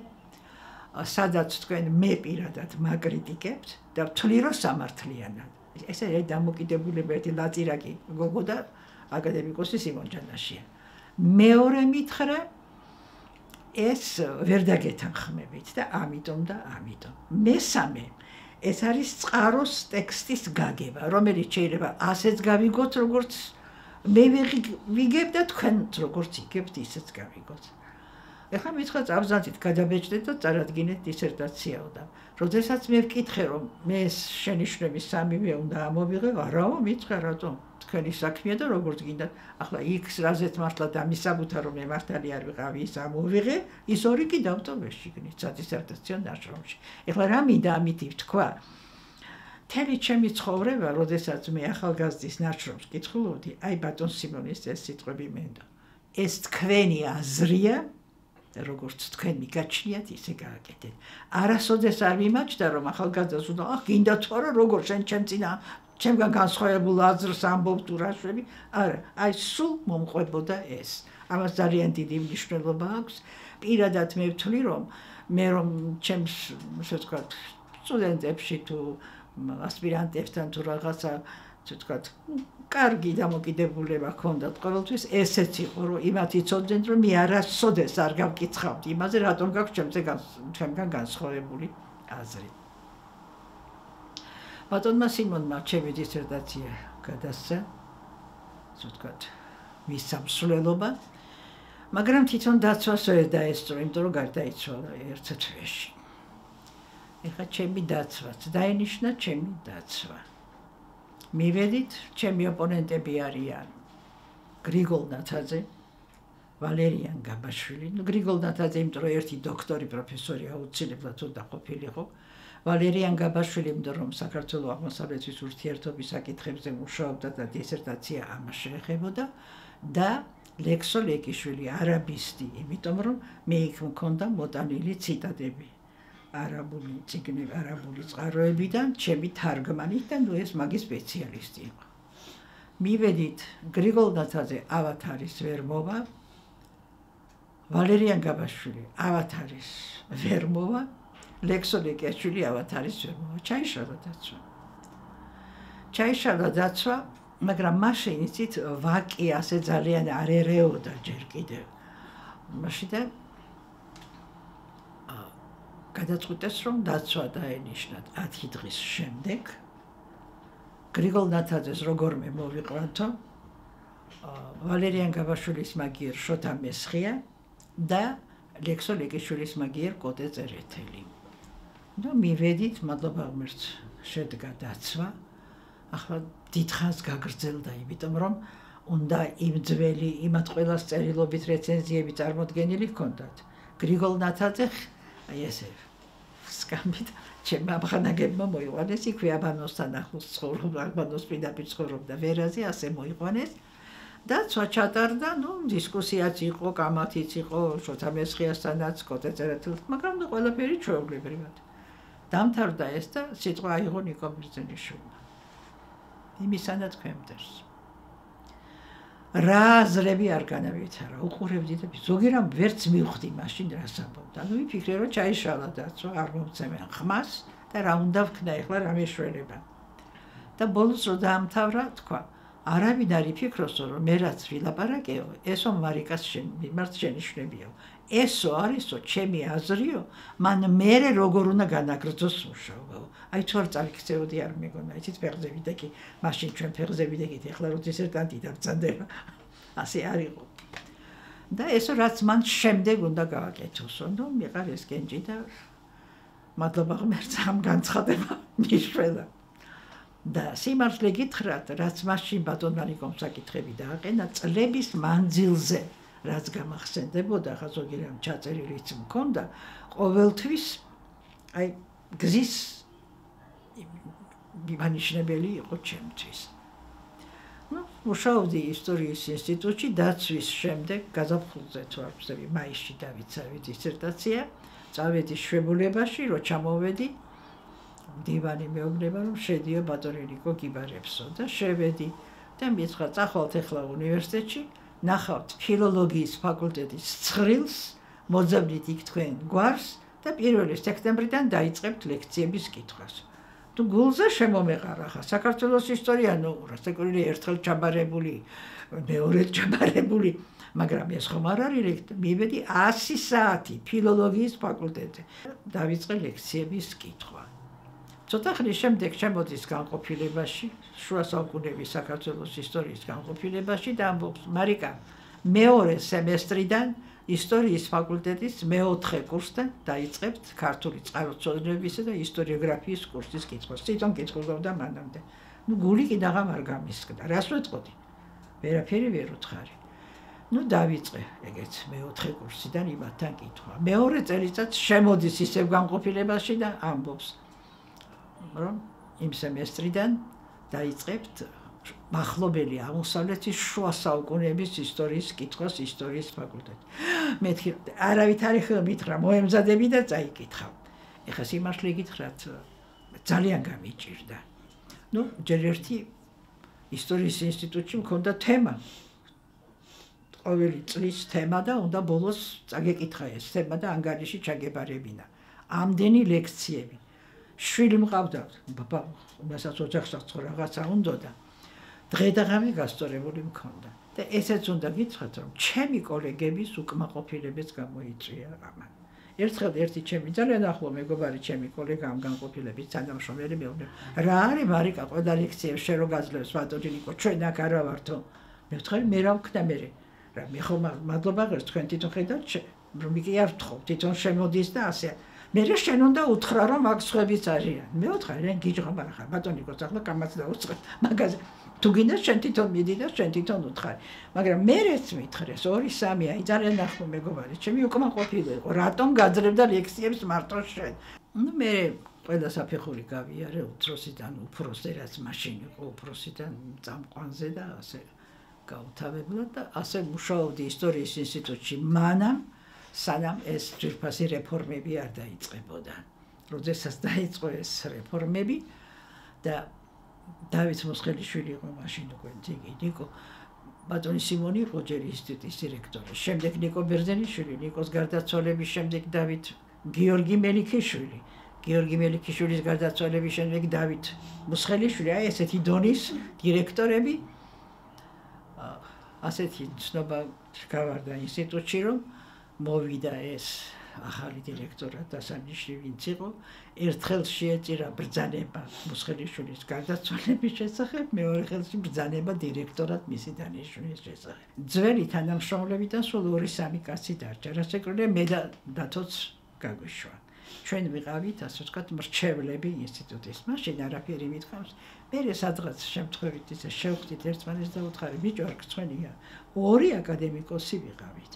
სადაც თქვენ მე პირადად მაკრიტიკებთ და ვთვლი, რომ სამართლიანად. ეს არის დამოკიდებულება ერთი ლაწირაკი გოგო და აკადემიკოსი სიმონ ჯანაშია. მეორე მითხრა, ეს ვერ დაგეთანხმებით და ამიტომ. მესამე, ეს არის წყაროს ტექსტის გაგება, რომელიც შეიძლება ასეც გავიგოთ, როგორც მე ვიგებ და თქვენც როგორც იგებთ, ისეც გავიგოთ. ეხლა მითხრა წავზანდით, გადაბეჭდეთ და წარადგინეთ დისერტაციაო და როდესაც მე ვკითხე, რომ მე შენიშვნების სამივე უნდა ამოვიღე, არაო, მითხრა, რატომ? თქვენი საქმეა და როგორც გინდა, ახლა X რაზეც მართლა დამისაბუთა, რომ მე მართალი არ ვიყავი, ის ამოვიღე, ის ორი კი დავტოვე შიგნით სადისერტაციო ნაშრომში. ეხლა რა მინდა ამით ვთქვა? მთელი ჩემი ცხოვრება, როდესაც მე ახალგაზრდის ნაშრომს კითხულობდი, აი ბატონ სიმონის ეს სიტყვები მენდა. ეს თქვენი აზრია, როგორც თქვენ მიგაჩნიათ, ისე გააკეთეთ. არასოდეს არ მიმაჩნდა, რომ ახალგაზრდას უნდა, გინდა თუ არა, როგორ შენ ჩემგან განსხვავებულ აზრს ამბობ თუ რა შვები. არა, აი სულ მომყვებოდა ეს. ამას ძალიან დიდი მნიშვნელობა აქვს. პირადად მე ვთვლი, რომ მე რომ ჩემს, ასე ვთქვათ, სტუდენტებში თუ ასპირანტებთან თუ რაღაცა, ასე ვთქვათ, კარგი დამოკიდებულება ჰქონდათ ყოველთვის, ესეც იყო, რომ იმათ იცოდნენ, რომ მე არასოდეს არ გავკითხავდი იმაზე, რატომ გაქვს ჩემგან განსხვავებული აზრი. ბატონმა სიმონმა ჩემი დისერტაცია გადასცა, ასე ვთქვათ, მის სამსვლელობა, მაგრამ თვითონ დაცვას ვერ დაესწრო, იმიტომ რომ გარდაიცვალა ერთ თვეში. ეხლა ჩემი დაცვაც დაენიშნა ჩემი დაცვა. მივედით, ჩემი ოპონენტები არიან გრიგოლ ნათაძე, ვალერიან გაბაშვილი. გრიგოლ ნათაძე, იმიტომ რომ ერთი დოქტორი პროფესორი აუცილებლად უნდა ყოფილიყო. ვალერიან გაბაშვილი, იმიტომ რომ საქართველოს აღმოსავლეთის ურთიერთობის საკითხებზე მუშაობდა და დისერტაცია ამას შეეხებოდა და ლექსო ლეკიშვილი, არაბისტი, იმიტომ რომ მე იქ მქონდა მოტანილი ციტატები. არაბული წიგნები, არაბული წყაროებიდან, ჩემი თარგმანით და ეს მაგის სპეციალისტი იყო. მივედით, გრიგოლ ნათაძე ავათარის ვერ მოვა, ვალერიან გაბაშვილი ავათარის ვერ მოვა, ლექსო ლეკიშვილი ავათარის ვერ მოვა. ჩაიშალა დაცვა, მაგრამ მაშინ იცით, ვაკი ასე ძალიან არ ერეოდა ჯერ კიდევ. მაშინ გადაწყვიტეს, რომ დაცვა დაენიშნათ 10 დღის შემდეგ. გრიგოლ ნათაძეს როგორმე მოვიყვანთო, ვალერიან გაბაშვილის მაგიერ შოთა მესხია და ლექსო ლეკიშვილის მაგიერ კოტე წერეთელი. და მივედით, მადლობა ღმერთს, შედგა დაცვა. ახლა დიდხანს გაგრძელდა, იმიტომ რომ უნდა იმ ძველი, იმათ ყველას წერილობით რეცენზიები წარმოდგენილი ჰქონდათ. გრიგოლ ნათაძე აი ესე სკამბით ჩემმა ამხანაგებმა მოიყვანეს, იქვე აბანოსთან ახლოს ცხოვრობდა, აბანოს პირდაპირ ცხოვრობდა ვერაზე, ასე მოიყვანეს. დაცვა ჩატარდა, დისკუსიაც იყო, კამათიც იყო, შოთა მესხიასთანაც, კოტე წერეთელთან, მაგრამ ყველაფერი ჩვეულებრივად. დამთავრდა ეს და სიტყვა აიღო ნიკო ბერძენიშვილმა. იმისანა თქვენ მტერს. რა აზრები არ განავითარა, უყურებდი და ზოგი რამ ვერც მივხვდი მაშინ რას ამბობდა. ვიფიქრე რომ ჩაიშალა დაცვა, არ მომცემენ ხმას და რა უნდა ვქნა ეხლა რა მეშველება. და ბოლოს რო დაამთავრა, თქვა, არავინ არ იფიქროს რომ მე რაც ვილაპარაკეო, ესო მარიკას მიმართ შენიშვნებიო. ესო არისო ჩემი აზრიო, მან მერე როგორ უნდა განაგრძოს მუშაობა. აი თუ არ წავიქცეოდი არ მეგონა, იცით ფეხზე ვიდექი, მაშინ ჩვენ ფეხზე ვიდექით, ეხლა რო დისერტანტი დაბრძანდება. ასე არ იყო. და ესო რაც მან შემდეგ უნდა გავაკეთოსო, ნუ მიყარ ეს კენჭი და მადლობა ღმერთს ამ განცხადება მიშველა. და სიმართლე გითხრათ, რაც მაშინ ბატონმარიკომ საკითხები დააყენა წლების მანძილზე, რაც გამახსენდებოდა, ხა ზოგი რამ ჩაწერილიც მქონდა, ყოველთვის აი გზის მიმანიშნებელი იყო ჩემთვის. მუშაობდი ისტორიის ინსტიტუტში, დაცვის შემდეგ გაზაფხულზე თუ არ ვცდები, მაისში დავიცავი დისერტაცია, წავედი შვებულებაში, რო ჩამოვედი დივანი მეუბნება რომ შედიო ბატონიკო გიბარებსო და შევედი და მითხრა წახვალთ ახლა უნივერსიტეტში ნახავთ ფილოლოგიის ფაკულტეტის ცხრილს მოძებნით იქ თქვენ გვარს და 1 სექტემბრიდან დაიწყებთ ლექციების კითხვას. თუ გულზე შემომეყარა ხა საქართველოს ისტორია ნუ რასაკვირველია ერთხელ ჩაბარებული მეორე ჩაბარებული მაგრამ ეს ხომ არ არის მივედი 100 საათი ფილოლოგიის ფაკულტეტზე დავიწყე ლექციების კითხვა. ცოტა ხნის შემდეგ შემოდის განყოფილებაში, შუა საუკუნეების საქართველოს ისტორიის განყოფილებაში და ამბობს, მარიკა, მეორე სემესტრიდან ისტორიის ფაკულტეტის მეოთხე კურსთან დაიწყებთ ქართული წყაროწოდებისა და ისტორიოგრაფიის კურსის კითხვას. თვითონ კითხულობდა მანამდე. ნუ გული კიდევ არ გამისკდა. რას ვეთყოდი? ვერაფერი ვერ უთხარი. ნუ დავიწყე ეგეც მეოთხე კურსიდან იმათთან კითხვა. მეორე წელიწადს შემოდის ისევ განყოფილებაში და ამბობს რომ იმ სემესტრიდან დაიწყებთ მახლობელი აღმოსავლეთის შუა საუკუნეების ისტორიის კითხვას ისტორიის ფაკულტეტში. მეთქი არავითარი ხმითხრა მოემზადები და წაიკითხავ. ეხლა სიმართლე გითხრათ ძალიან გამიჭირდა. ნუ ჯერ ერთი ისტორიის ინსტიტუტში მქონდა თემა. ყოველი წლის თემა და უნდა ბოლოს წაგეკითხა ეს თემა და ანგარიში ჩაგებარებინა. ამდენი ლექციები. შვილი მყავდა, ბაბა, მასაც ოჯახსაც რაღაცა უნდა და დღე და ღამე გასწორებული მქონდა. და ესეც უნდა გითხრათ, რომ ჩემი კოლეგების უკმაყოფილებაც გამოიწვია ამან. ერთხელ ერთი ჩემი ძალიან ახლო მეგობარი ჩემი კოლეგა ამ განყოფილების თანამშრომელი მეუბნება, რა არის მარიკა, ყველა ლექციებს შენ რო გაძლევს ბატონიკო, ჩვენ აქ არა ვართო. მე ვთქვი, მე რა ვქნა მე? რა მე ხომ მადლობა ღირს თქვენ თვითონ ხედავთ, რომ იგი არ ვთხოვ, თვითონ შემოდის და ასე. მე შენ უნდა უთხრა რომ აქ სხვებიც არიან. მე ვთქვა, რენ გიჯღაბ ახლა ბატონიკო, ახლა კამაც დაუწყებ. მაგაზე თუ გინდა შენ თვითონ მიდი და შენ თვითონ უთხარი. მაგრამ მე რეც მითხრეს 2-3 აი ძალიან ახლო მეგობარი, ჩემი უკმაყოფილი იყო. რატომ გაძლებდა ლექციებს მარტო შენ? ნუ მე ყველა საფეხური გავიარე უფროსიდან უფროსზე, რაც მაშინ იყო უფროსიდან წამყვანზე და ასე გავთავებლა და ასე მუშაობდი ისტორიის ინსტიტუტში მანამ სანამ ეს ძვირფასი რეფორმები არ დაიწყებოდა. როდესაც დაიწყო ეს რეფორმები და დავით მოსხელიშვილი იყო მაშინ უკვე ძიგი ნიკო ბატონი სიმონი იყო ჯერ ინსტიტუტის დირექტორი. შემდეგ ნიკო ბერძენიშვილი, ნიკოს გარდაცვალების შემდეგ დავით გიორგი მელიქიშვილი. გიორგი მელიქიშვილის გარდაცვალების შემდეგ დავით მოსხელიშვილი, აი ესეთი დონის დირექტორები. ასეთი ცნობა გავარდა ინსტიტუტში რომ მოვიდა ეს ახალი დირექტორად დასანიშნი ვინც იყო, ერთხელ შეეწირა ბრძანება მოსხელიშვილის გარდაცვალების შესახებ, მეორე ხელში ბრძანება დირექტორად მისი დანიშვნის შესახებ. ძველი თანამშრომლებიდან სულ 2-3 კაცი დარჩა, რასაკვირველია მე და დათოც გაგვიშვა. ჩვენ ვიყავით, ასე ვთქვათ, მრჩევლები ინსტიტუტის. მაშინ არაფერი მithქვამს, მე სადღაც შემთხვევით ისე შევხვდით ერთმანეთს და უთხარი, ბიჭო, არ გწვენია, 2 აკადემიკოსი ვიყავით.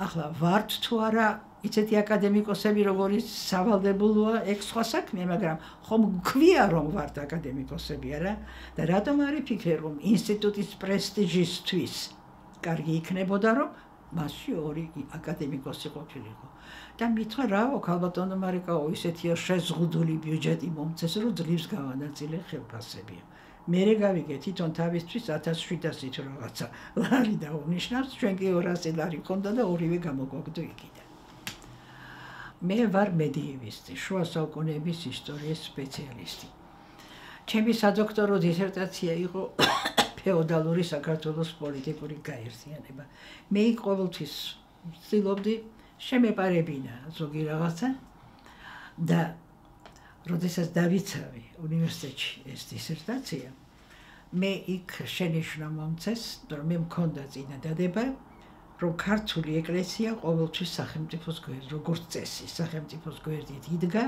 ახლა ვართ თუ არა იცეთი აკადემიკოსები როგორიც სავალდებულოა ეგ სხვა საქმე, მაგრამ ხომ გვქვია რომ ვართ აკადემიკოსები, არა? და რატომ არის ფიქრე რომ ინსტიტუტის პრესტიჟისთვის კარგი იქნებოდა რომ მასში 2 აკადემიკოსი ყოფილიყო. და მithვა რაო, ქალბატონო მარიკაო, ისეთია შეზღუდული ბიუჯეტი მომცეს რომ ძლივს გავანაწილე ხელფასები. მე გავიგე თვითონ თავისთვის 1700-ით რაღაცა ლარი დაუნიშნავს, ჩვენ კი 200 ლარი ქონდა და ორივე გამოგვაგდო იქიდან. მე ვარ მედიევისტი, შუა საუკუნეების ისტორიის სპეციალისტი. ჩემი სადოქტორო დისერტაცია იყო ფეოდალური საქართველოს პოლიტიკური გაერთიანება. მე იქ ყოველთვის ვცდილობდი შემეპარებინა ზოგი რაღაცა და როდესაც დავიცავი უნივერსიტეტში ეს დისერტაცია, მე იქ შენიშვნა მომწეს, რომ მე მქონდა წინადადება, რომ ქართული ეკლესია ყოველთვის სახელმწიფოს გვერდით, როგორც წესი, სახელმწიფოს გვერდით იდგა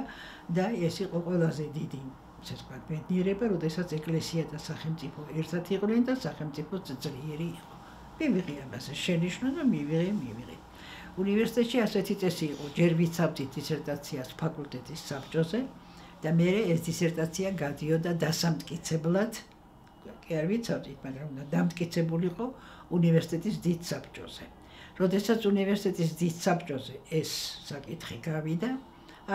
და ეს იყო ყველაზე დიდი, ასე ვთქვათ, ბედნიერება, როდესაც ეკლესია და სახელმწიფო ერთად იყვნენ და სახელმწიფო ძლიერი იყო. მივიღე ამაზე შენიშვნა და მივიღე. უნივერსიტეტში ასეთი წესი იყო, ჯერ ვიცავდით დისერტაციას ფაკულტეტის საბჭოზე და მე ეს დისერტაცია გადიოდა დასამტკიცებლად, კი არ ვიცავდით, მაგრამ უნდა დამტკიცებულიყო უნივერსიტეტის დიდ საბჭოზე. როდესაც უნივერსიტეტის დიდ საბჭოზე ეს საკითხი გავიდა,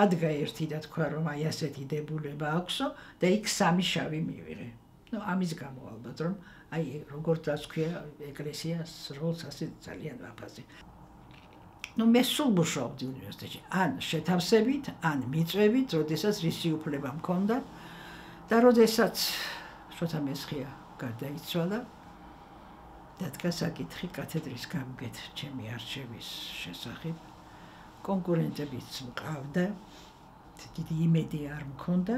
ადგა ერთი და თქვა, რომ აი ასეთი დებულება აქვსო და იქ 3 შავი მივიღე. ამის გამო ალბათ, რომ აი როგორც თქვია, ეკლესიას როლს ასე ძალიან ვაფაზე. მე სულ მუშაობდი უნივერსიტეტში, ან შეთავსებით, ან მიწვევით, როდესაც რისი უფლება მქონდა და როდესაც შოთა მესხია გარდაიცვალა, დადგა საკითხი კათედრის გამგედ ჩემი არჩევის შესახებ. კონკურენტებიც მყავდა, დიდი იმედი არ მქონდა,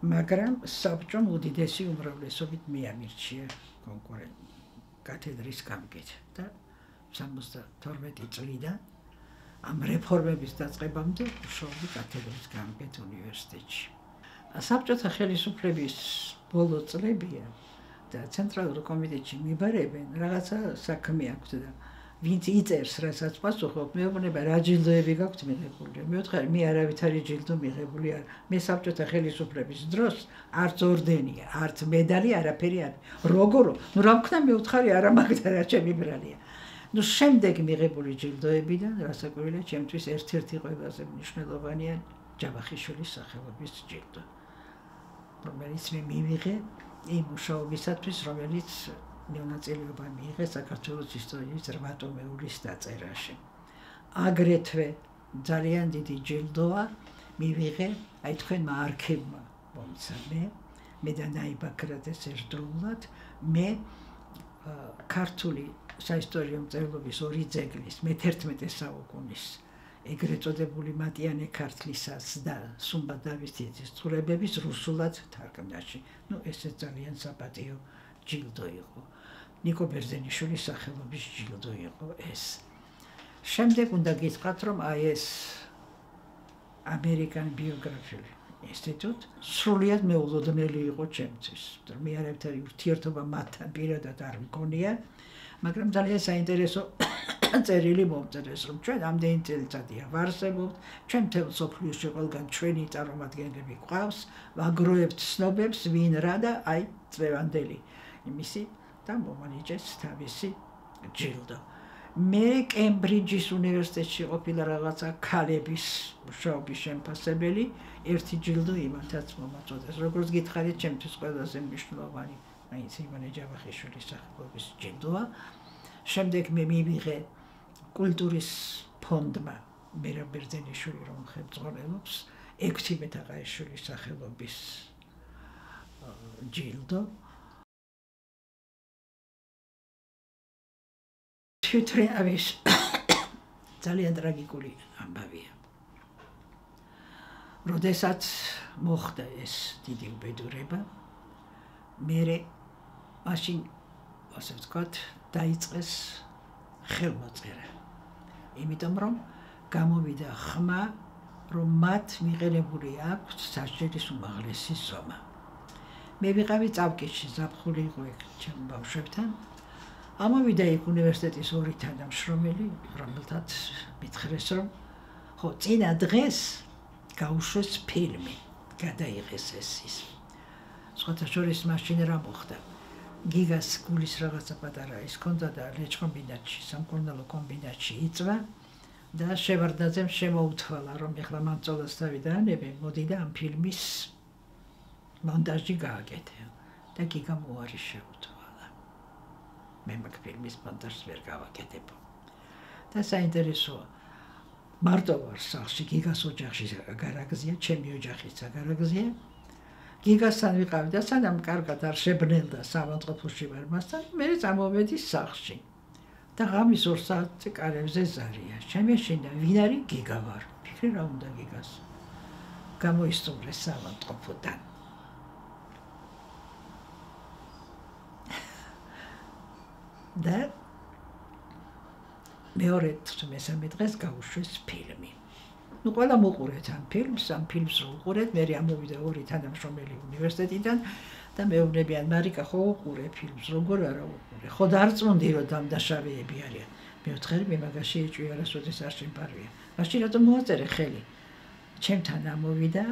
მაგრამ საბჭომ უდიდესი უმრავლესობით მიამირჩია კათედრის გამგედ და 72 წლიდან ამ რეფორმების დაწყებამდე ვშოვდი კათედრის გამგედ უნივერსიტეტში. საბჭოთა ხელისუფლების ბოლო წლებია და ცენტრალურ კომიტეტში მიბარებენ, რაღაცა საქმე აქვს და ვინც იწერს, რასაც პასუხობ, მეუბნება რა ჯილდოები გაქვთ მიღებული. მეუთხარი, მე არავითარი ჯილდო მიღებული არ. მე საბჭოთა ხელისუფლების დროს არც ორდენია, არც მედალი, არაფერი არ. როგორო? რა ვქნა მეუთხარი, არა მაგდა რა ჩემი ბრალია. შემდეგ მიღებული ჯილდოებიდან, რასაკვირველია, ჩემთვის ერთ-ერთი ყველაზე მნიშვნელოვანია ჯავახიშვილის სახელობის ჯილდო, რომელიც მე მივიღე იმ მუშაობისათვის, რომელიც მონაწილეობა მიიღე საქართველოს ისტორიის 8 ტომეულის დაწერაში. აგრეთვე ძალიან დიდი ჯილდოა მივიღე, აი თქვენმა არქივმა მომცა მე და ნაიბაქრადეს ერთდროულად, მე ქართული საისტორიო მწერლობის 2 ძეგლის მე-11 საუკუნის ეგრეთ წოდებული მატიანე ქართლისას და სუმბა დავითის ცხოვრებების რუსულად თარგმნაში. ესე ძალიან საპატიო ჯილდო იყო. ნიკო ბერძენიშვილის სახელობის ჯილდო იყო ეს. შემდეგ უნდა გითხრათ, რომ აი ეს ამერიკან ბიოგრაფიული ინსტიტუტი სრულიად მეულოდნელი იყო ჩემთვის. მე არავითარი ურთიერთობა მათთან პირადად არ მქონია, მაგრამ ძალიან საინტერესო წერილი მომწერეს, რომ ჩვენ ამდენი წელიწადია ვარსებობთ, ჩვენ მთელ მსოფლიოში ყველგან ჩვენი წარმომადგენლები გვყავს, ვაგროვებთ ცნობებს, ვინ რა და აი წლევანდელი იმისი და მომანიჭეს თავისი ჯილდო. მე კემბრიჯის უნივერსიტეტში ყოფილა რაღაცა ქალების მუშაობის შემფასებელი, ერთი ჯილდო იმათაც მომაწოდეს. როგორც გითხარით, ჩემთვის ყველაზე მნიშვნელოვანი მაინც ივანე ჯავახიშვილის სახელობის ჯილდოა. შემდეგ მე მივიღე კულტურის ფონდმა მერაბ ბერძენიშვილი, რომ ხელმძღვანელობს, ექვთიმე თაყაიშვილის სახელობის ჯილდო. თვითრეავის ძალიან ტრაგიკული ამბავია. როდესაც მოხდა ეს დიდი უბედურება, მერე მაშინ ასე ვთქვათ, დაიწყეს ხელმოწერა. იმიტომ რომ გამოვიდა ხმა, რომ მათ მიღებული აქვთ სასჯელის უმაღლესი ზომა. მე ვიყავი წავკითხში, ზაფხული იყო ეგ ჩემ ბავშვებთან. ამოვიდა იქ უნივერსიტეტის 2 თანამშრომელი, რომელთაც მითხრეს, რომ ხო, წინა დღეს გაუშვეს ფილმი, გადაიღეს ეს ის. სხვათა შორის მაშინ რა მოხდა? გიგას გულის რაღაცა პატარა ის ჰქონდა და ლეჩხომბინატში, სამკურნალო კომბინატში იწვა და შევარდნაძემ შემოუთვალა, რომ ეხლა მამწოლას თავი დაანებენ, მოდი და ამ ფილმის მონტაჟი გააკეთე. და და გიგამ უარი შეუთვალა. მე მაგ ფილმის მონტაჟს ვერ გავაკეთებ. და საინტერესოა, მარტო ვარ სახლში, გიგას ოჯახში გარაგზია, ჩემი ოჯახიც გარაგზია. გიგასთან ვიყავი და სანამ კარგად არ შებნელდა სამავთყოფოში ვარ მასთან, მე წამოვედი სახლში. და ღამის 2 საათზე კარებზე ზარია. შემეშინდა, ვინ არის? გიგა ვარ. ფიქრე რა უნდა გიგას. გამოისწორეს სამავთყოფოდან. და მეორე მესამე დღეს გაუშვეს ფილმი. ნუ ყველა მოყურეთ ამ ფილმს რო უყურეთ, მე ამოვიდა 2 თანამშრომელი უნივერსიტეტიდან და მეუბნებიან, მარიკა, ხო უყურე ფილმს, როგორ არა უყურე? ხო დარწმუნდი რომ დამდაშავეები არიან. მეოთხე მე მაგაში ეჭვი არასოდეს არ შემპარვია. მაშინ რატომ მოაწერე ხელი? ჩემთან ამოვიდა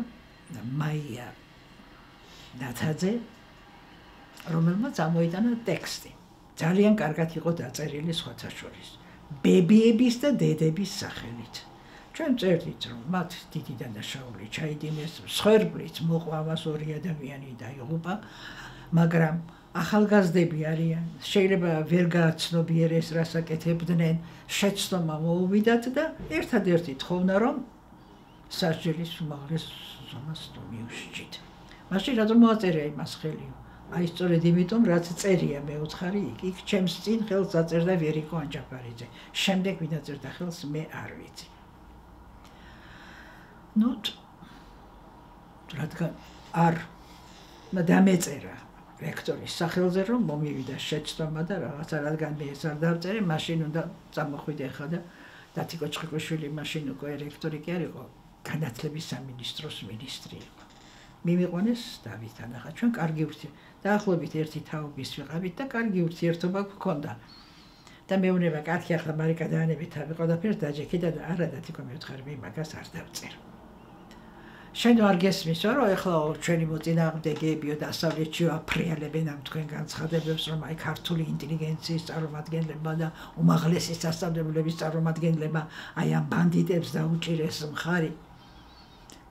მაია ნათაძე, რომელმაც ამოიტანა ტექსტი. ძალიან კარგად იყო დაწერილი სხვათა შორის. ბებიების და დედების სახელით. ჩვენ წერდით, რომ მათ დიდი დანაშაული ჩაიდინეს, მსხვერპლიც მოყვავას 2 ადამიანი დაიღუპა, მაგრამ ახალგაზრდები არიან, შეიძლება ვერ გააცნობიერეს, რას აკეთებდნენ, შეცდომა მოუვიდათ და ერთადერთი თხოვნა, რომ სასჯელის უმაღლეს ზომას მიუშჯით. მაშინ რატომ მოაწერე იმას ხელი? აი სწორედ იმიტომ, რაც წერია მეოთხარი იქ ჩემს წინ ხელს აწერდა ვერიკო ანჯაფარიძე. შემდეგ ვინ აწერდა ხელს, მე არ ვიცი. ნუ რადგან არ დამეწერა რექტორის სახელზე, რომ მომივიდა შეცდომა და რაღაცა, რადგან მე ეს არ დავწერე, მაშინ უნდა წამოხვიდე ხა და დათიკო ჩხიკვიშვილი მაშინ უკვე რექტორი კი არ იყო, განათლების სამინისტროს მინისტრი იყო. მიმიყვანეს დავითთან, ახლა ჩვენ კარგი დაახლოებით ერთი თაობის ვიყავით და კარგი ურთიერთობა გვქონდა. და მეუბნება, კაცი ახლა მარიკა დაანებით თავი ყველაფერს დაჯექიდა და არა დათიკო მევთხარი, მე მაგას არ დავწერ. შენ არ გესმისო, რომ ეხლა ჩვენი მოწინააღმდეგეებიო დასავლეთში აფრიალებენ ამ თქვენ განცხადებებს, რომ აი ქართული ინტელიგენციის წარმომადგენლებმა და უმაღლესი სასწავლებლების წარმომადგენლებმა აი ამ ბანდიტებს დაუჭირეს მხარი.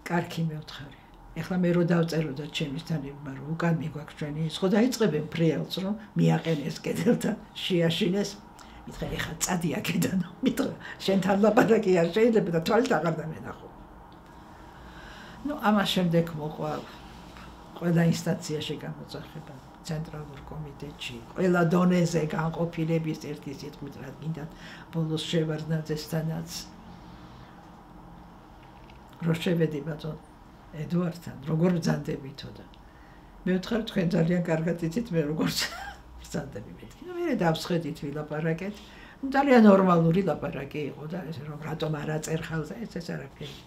კარგი მევთხარი. ეხლა მე რო დავწერო და ჩემისთანებმა რომ უკან მიგვაქვს ჩვენი ის, ხო დაიწყებენ ფრიალს, რომ მიაყენეს კედელთან, შეაშინეს. მითხრა, ეხლა წადი აქედან, მითხრა, შენთან ლაპარაკი არ შეიძლება და თვალით აღარ დამენახო. ნუ ამას შემდეგ მოყვა ყველა ინსტანციაში გამოძახება, ცენტრალურ კომიტეტში, ყველა დონეზე განყოფილების ერთი სიტყვით რა გინდათ, ბოლოს შევარდნაძესთანაც რო შევედი ბატონ ედუარდთან, როგორ ბრძანდებითო და მე ვთქვი, თქვენ ძალიან კარგად იცით მე როგორ ბრძანდები მეთქი. ნუ მე დავსხედით ვილაპარაკეთ. ძალიან ნორმალური ლაპარაკი იყო და ეს რომ რატომ არ აწერ ხელზე, ეს არაფერი.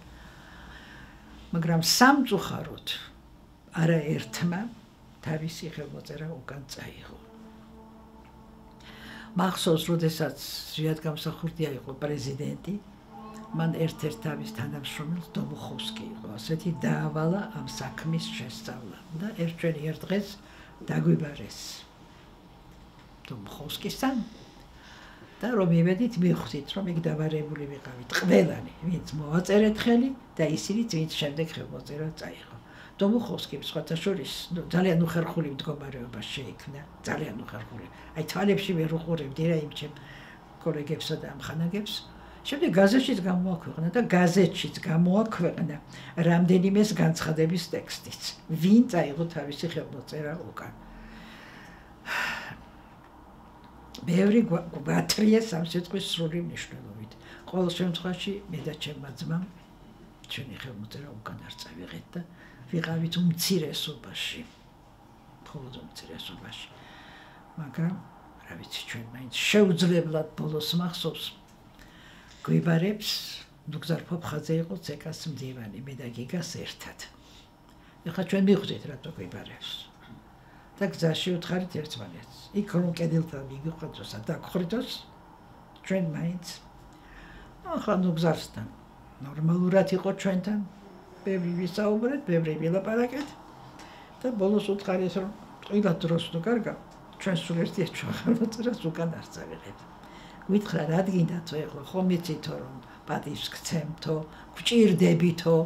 მაგრამ სამწუხაროდ არაერთმა თავისი ხელმოწერა უკან წაიღო. მახსოვს, როდესაც ზვიადგამსახურდია იყო პრეზიდენტი, მან ერთ-ერთ თავის თანამშრომელს დომუხოვსკი იყო, ასეთი დაავალა ამ საქმის შესწავლა და ერთ დღეს დაგვიბარეს დომუხოვსკისთან და რომ იმედით მივხვდით, რომ იქ დავარებული ვიყავით ყველანი, ვინც მოაწერეთ ხელი და ისინიც, ვინც შემდეგ ხელმოწერა წაიღო. დომუხოვსკი სხვათა შორის ძალიან უხერხული მდგომარეობა შეიქმნა, ძალიან უხერხული. აი თვალებში ვერ უყურებდი რა იმ ჩემ კოლეგებსა და ამხანაგებს. შემდეგ გაზეთშიც გამოაქვეყნა და გაზეთშიც გამოაქვეყნა რამდენიმეს განცხადების ტექსტიც. ვინ წაიღო თავისი ხელმოწერა უკან. ბევრი გვათრია სამსიტყვის სრული მნიშვნელობით. ყოველ შემთხვევაში მე და ჩემმა ძმამ ჩვენი ხელმოწერა უკან არ წავიღეთ და ვიყავით უმცირესობაში. მხოლოდ უმცირესობაში. მაგრამ რა ვიცი, ჩვენ მაინც შეუძლებლად ბოლოს მახსოვს გვიბარებს, დოქტორ ფოფხაძე იყო ცეკას მდივანი, მე და გიგას ერთად. ეხლა ჩვენ მივხვდით რატო გვიბარებს. და გზაში უთხარით ერთმანეთს. იქ რომ კედელთან მიგიყვეთოს და გხრიტოს, ჩვენ მაინც ახლა ნუ გზასთან ნორმალურად იყო ჩვენთან, ბევრი ვისაუბრეთ, ბევრი ვილაპარაკეთ და ბოლოს უთხარეს რომ ყველა დროს ნუ კარგა, ჩვენ სულ ერთია ხელმოწერას უკან არ წავიღეთ. გითხრა რა გინდათო ეხლა, ხომ იცითო რომ პატივს გცემთო, გვჭირდებითო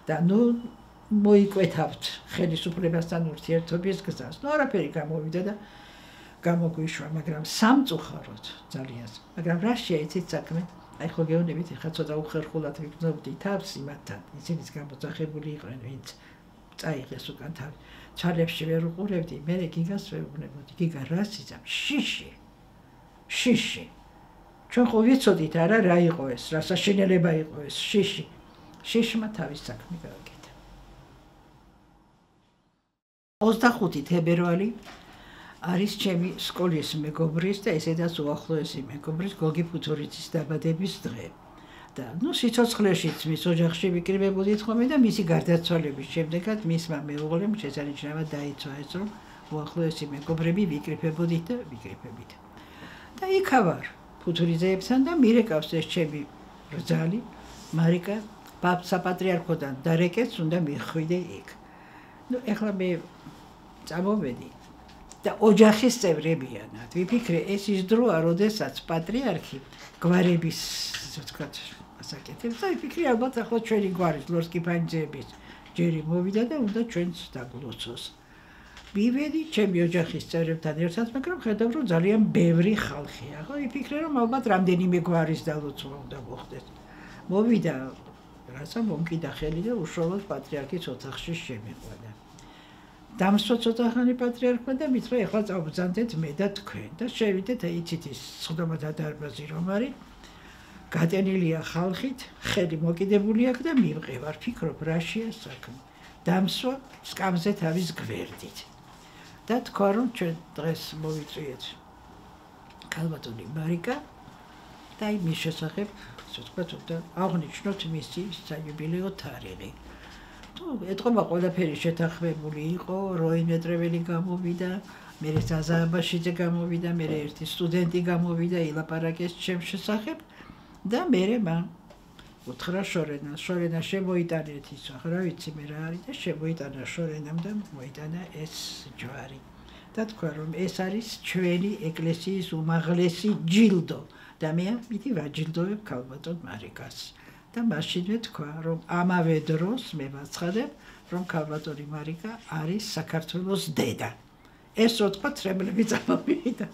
და ნუ მოიკვეთავთ ხელისუფლებასთან ურთიერთობის გზას. ნუ არაფერი გამოვიდა და გამოგვიშვა, მაგრამ სამწუხაროდ ძალიან. მაგრამ რა შეიცით საქმე? აი ხო გეუბნებით, ხა ცოტა უხერხულად ვიგრძნობდი თავს იმათთან. ისინიც გამოძახებული იყვნენ, ვინც წაიღეს უკან თავი. ჩალებში ვერ უყურებდი, მე გიგას ვერ უყურებდი. გიგა რას იცამ? შიში. ჩვენ ხო ვიცოდით არა რა იყო ეს, რა საშინელება იყო ეს შიში. შიშმა თავის საქმე გააკეთა. 25 თებერვალი არის ჩემი სკოლის მეგობრის და ესედაც უახლოესი მეგობრის გოგი ფუთურიძის დაბადების დღე. და ნუ სიცოცხლეშიც მის ოჯახში ვიკრიბებოდით ხოლმე და მისი გარდაცვალების შემდეგაც მისმა მეუღლემ შესანიშნავად დაიცვა ეს, რომ უახლოესი მეგობრები ვიკრიფებოდით და ვიკრიფებით. და იქავარ ფუთურიძეებთან და მირეკავს ეს ჩემი რძალი მარიკა საპატრიარქოდან დარეკეთს უნდა მიხვიდე იქ. ნუ ეხლა მე წამოვედი და ოჯახის წევრებიანად ვიფიქრე ეს ის დროა, როდესაც პატრიარქი გვარების ვთქვათ ასაკეთებს და ვიფიქრე ალბათ ახლა ჩვენი გვარის ლორსკი ფანჯების ჯერი მოვიდა და უნდა ჩვენც დაგლოცოს. მივედი ჩემი ოჯახის წევრებთან ერთად, მაგრამ ხედავ რომ ძალიან ბევრი ხალხია. ხო ვიფიქრე რომ ალბათ რამდენიმე გვარის დალოცვა უნდა მოხდეს. მოვიდა რაცა მომკიდა ხელი და უშუალოდ პატრიარქის ოთახში შემიყვანა. დამსვა ცოტახანი პატრიარქმა და მითხრა ეხლა წავბრძანდეთ მე და თქვენ და შევიდეთ იცით ის სხდომა და დარბაზი რომ არის გატენილია ხალხით, ხელი მოკიდებული აქვს და მივყევარ, ფიქრობ რაშია საქმე. დამსვა სკამზე თავის გვერდით. და თქვა რომ ჩვენ დღეს მოვიწვიეთ ქალბატონი მარიკა და იმის შესახებ ვთქვათ და აღნიშნოთ მისი საიუბილეო თარიღი. ეთყობა ყველაფერი შეთანხმებული იყო, როი მეტრეველი გამოვიდა, მე ზაზაბაშიძე გამოვიდა, მე ერთი სტუდენტი გამოვიდა, ილაპარაკეს ჩემს შესახებ და მე მან უთხრა შორენა შემოიტანეთ ის, რა ვიცი მე რა არის და შემოიტანა შორენამ და მოიტანა ეს ჯვარი. და თქვა რომ ეს არის ჩვენი ეკლესიის უმაღლესი ჯილდო და მე ამიტომ ვაჯილდოვებ ქალბატონ მარიკას. და მაშინვე თქვა რომ ამავე დროს მე ვაცხადებ რომ ქალბატონი მარიკა არის საქართველოს დედა. ეს რო თქვა, თრემლები წამოვიდა.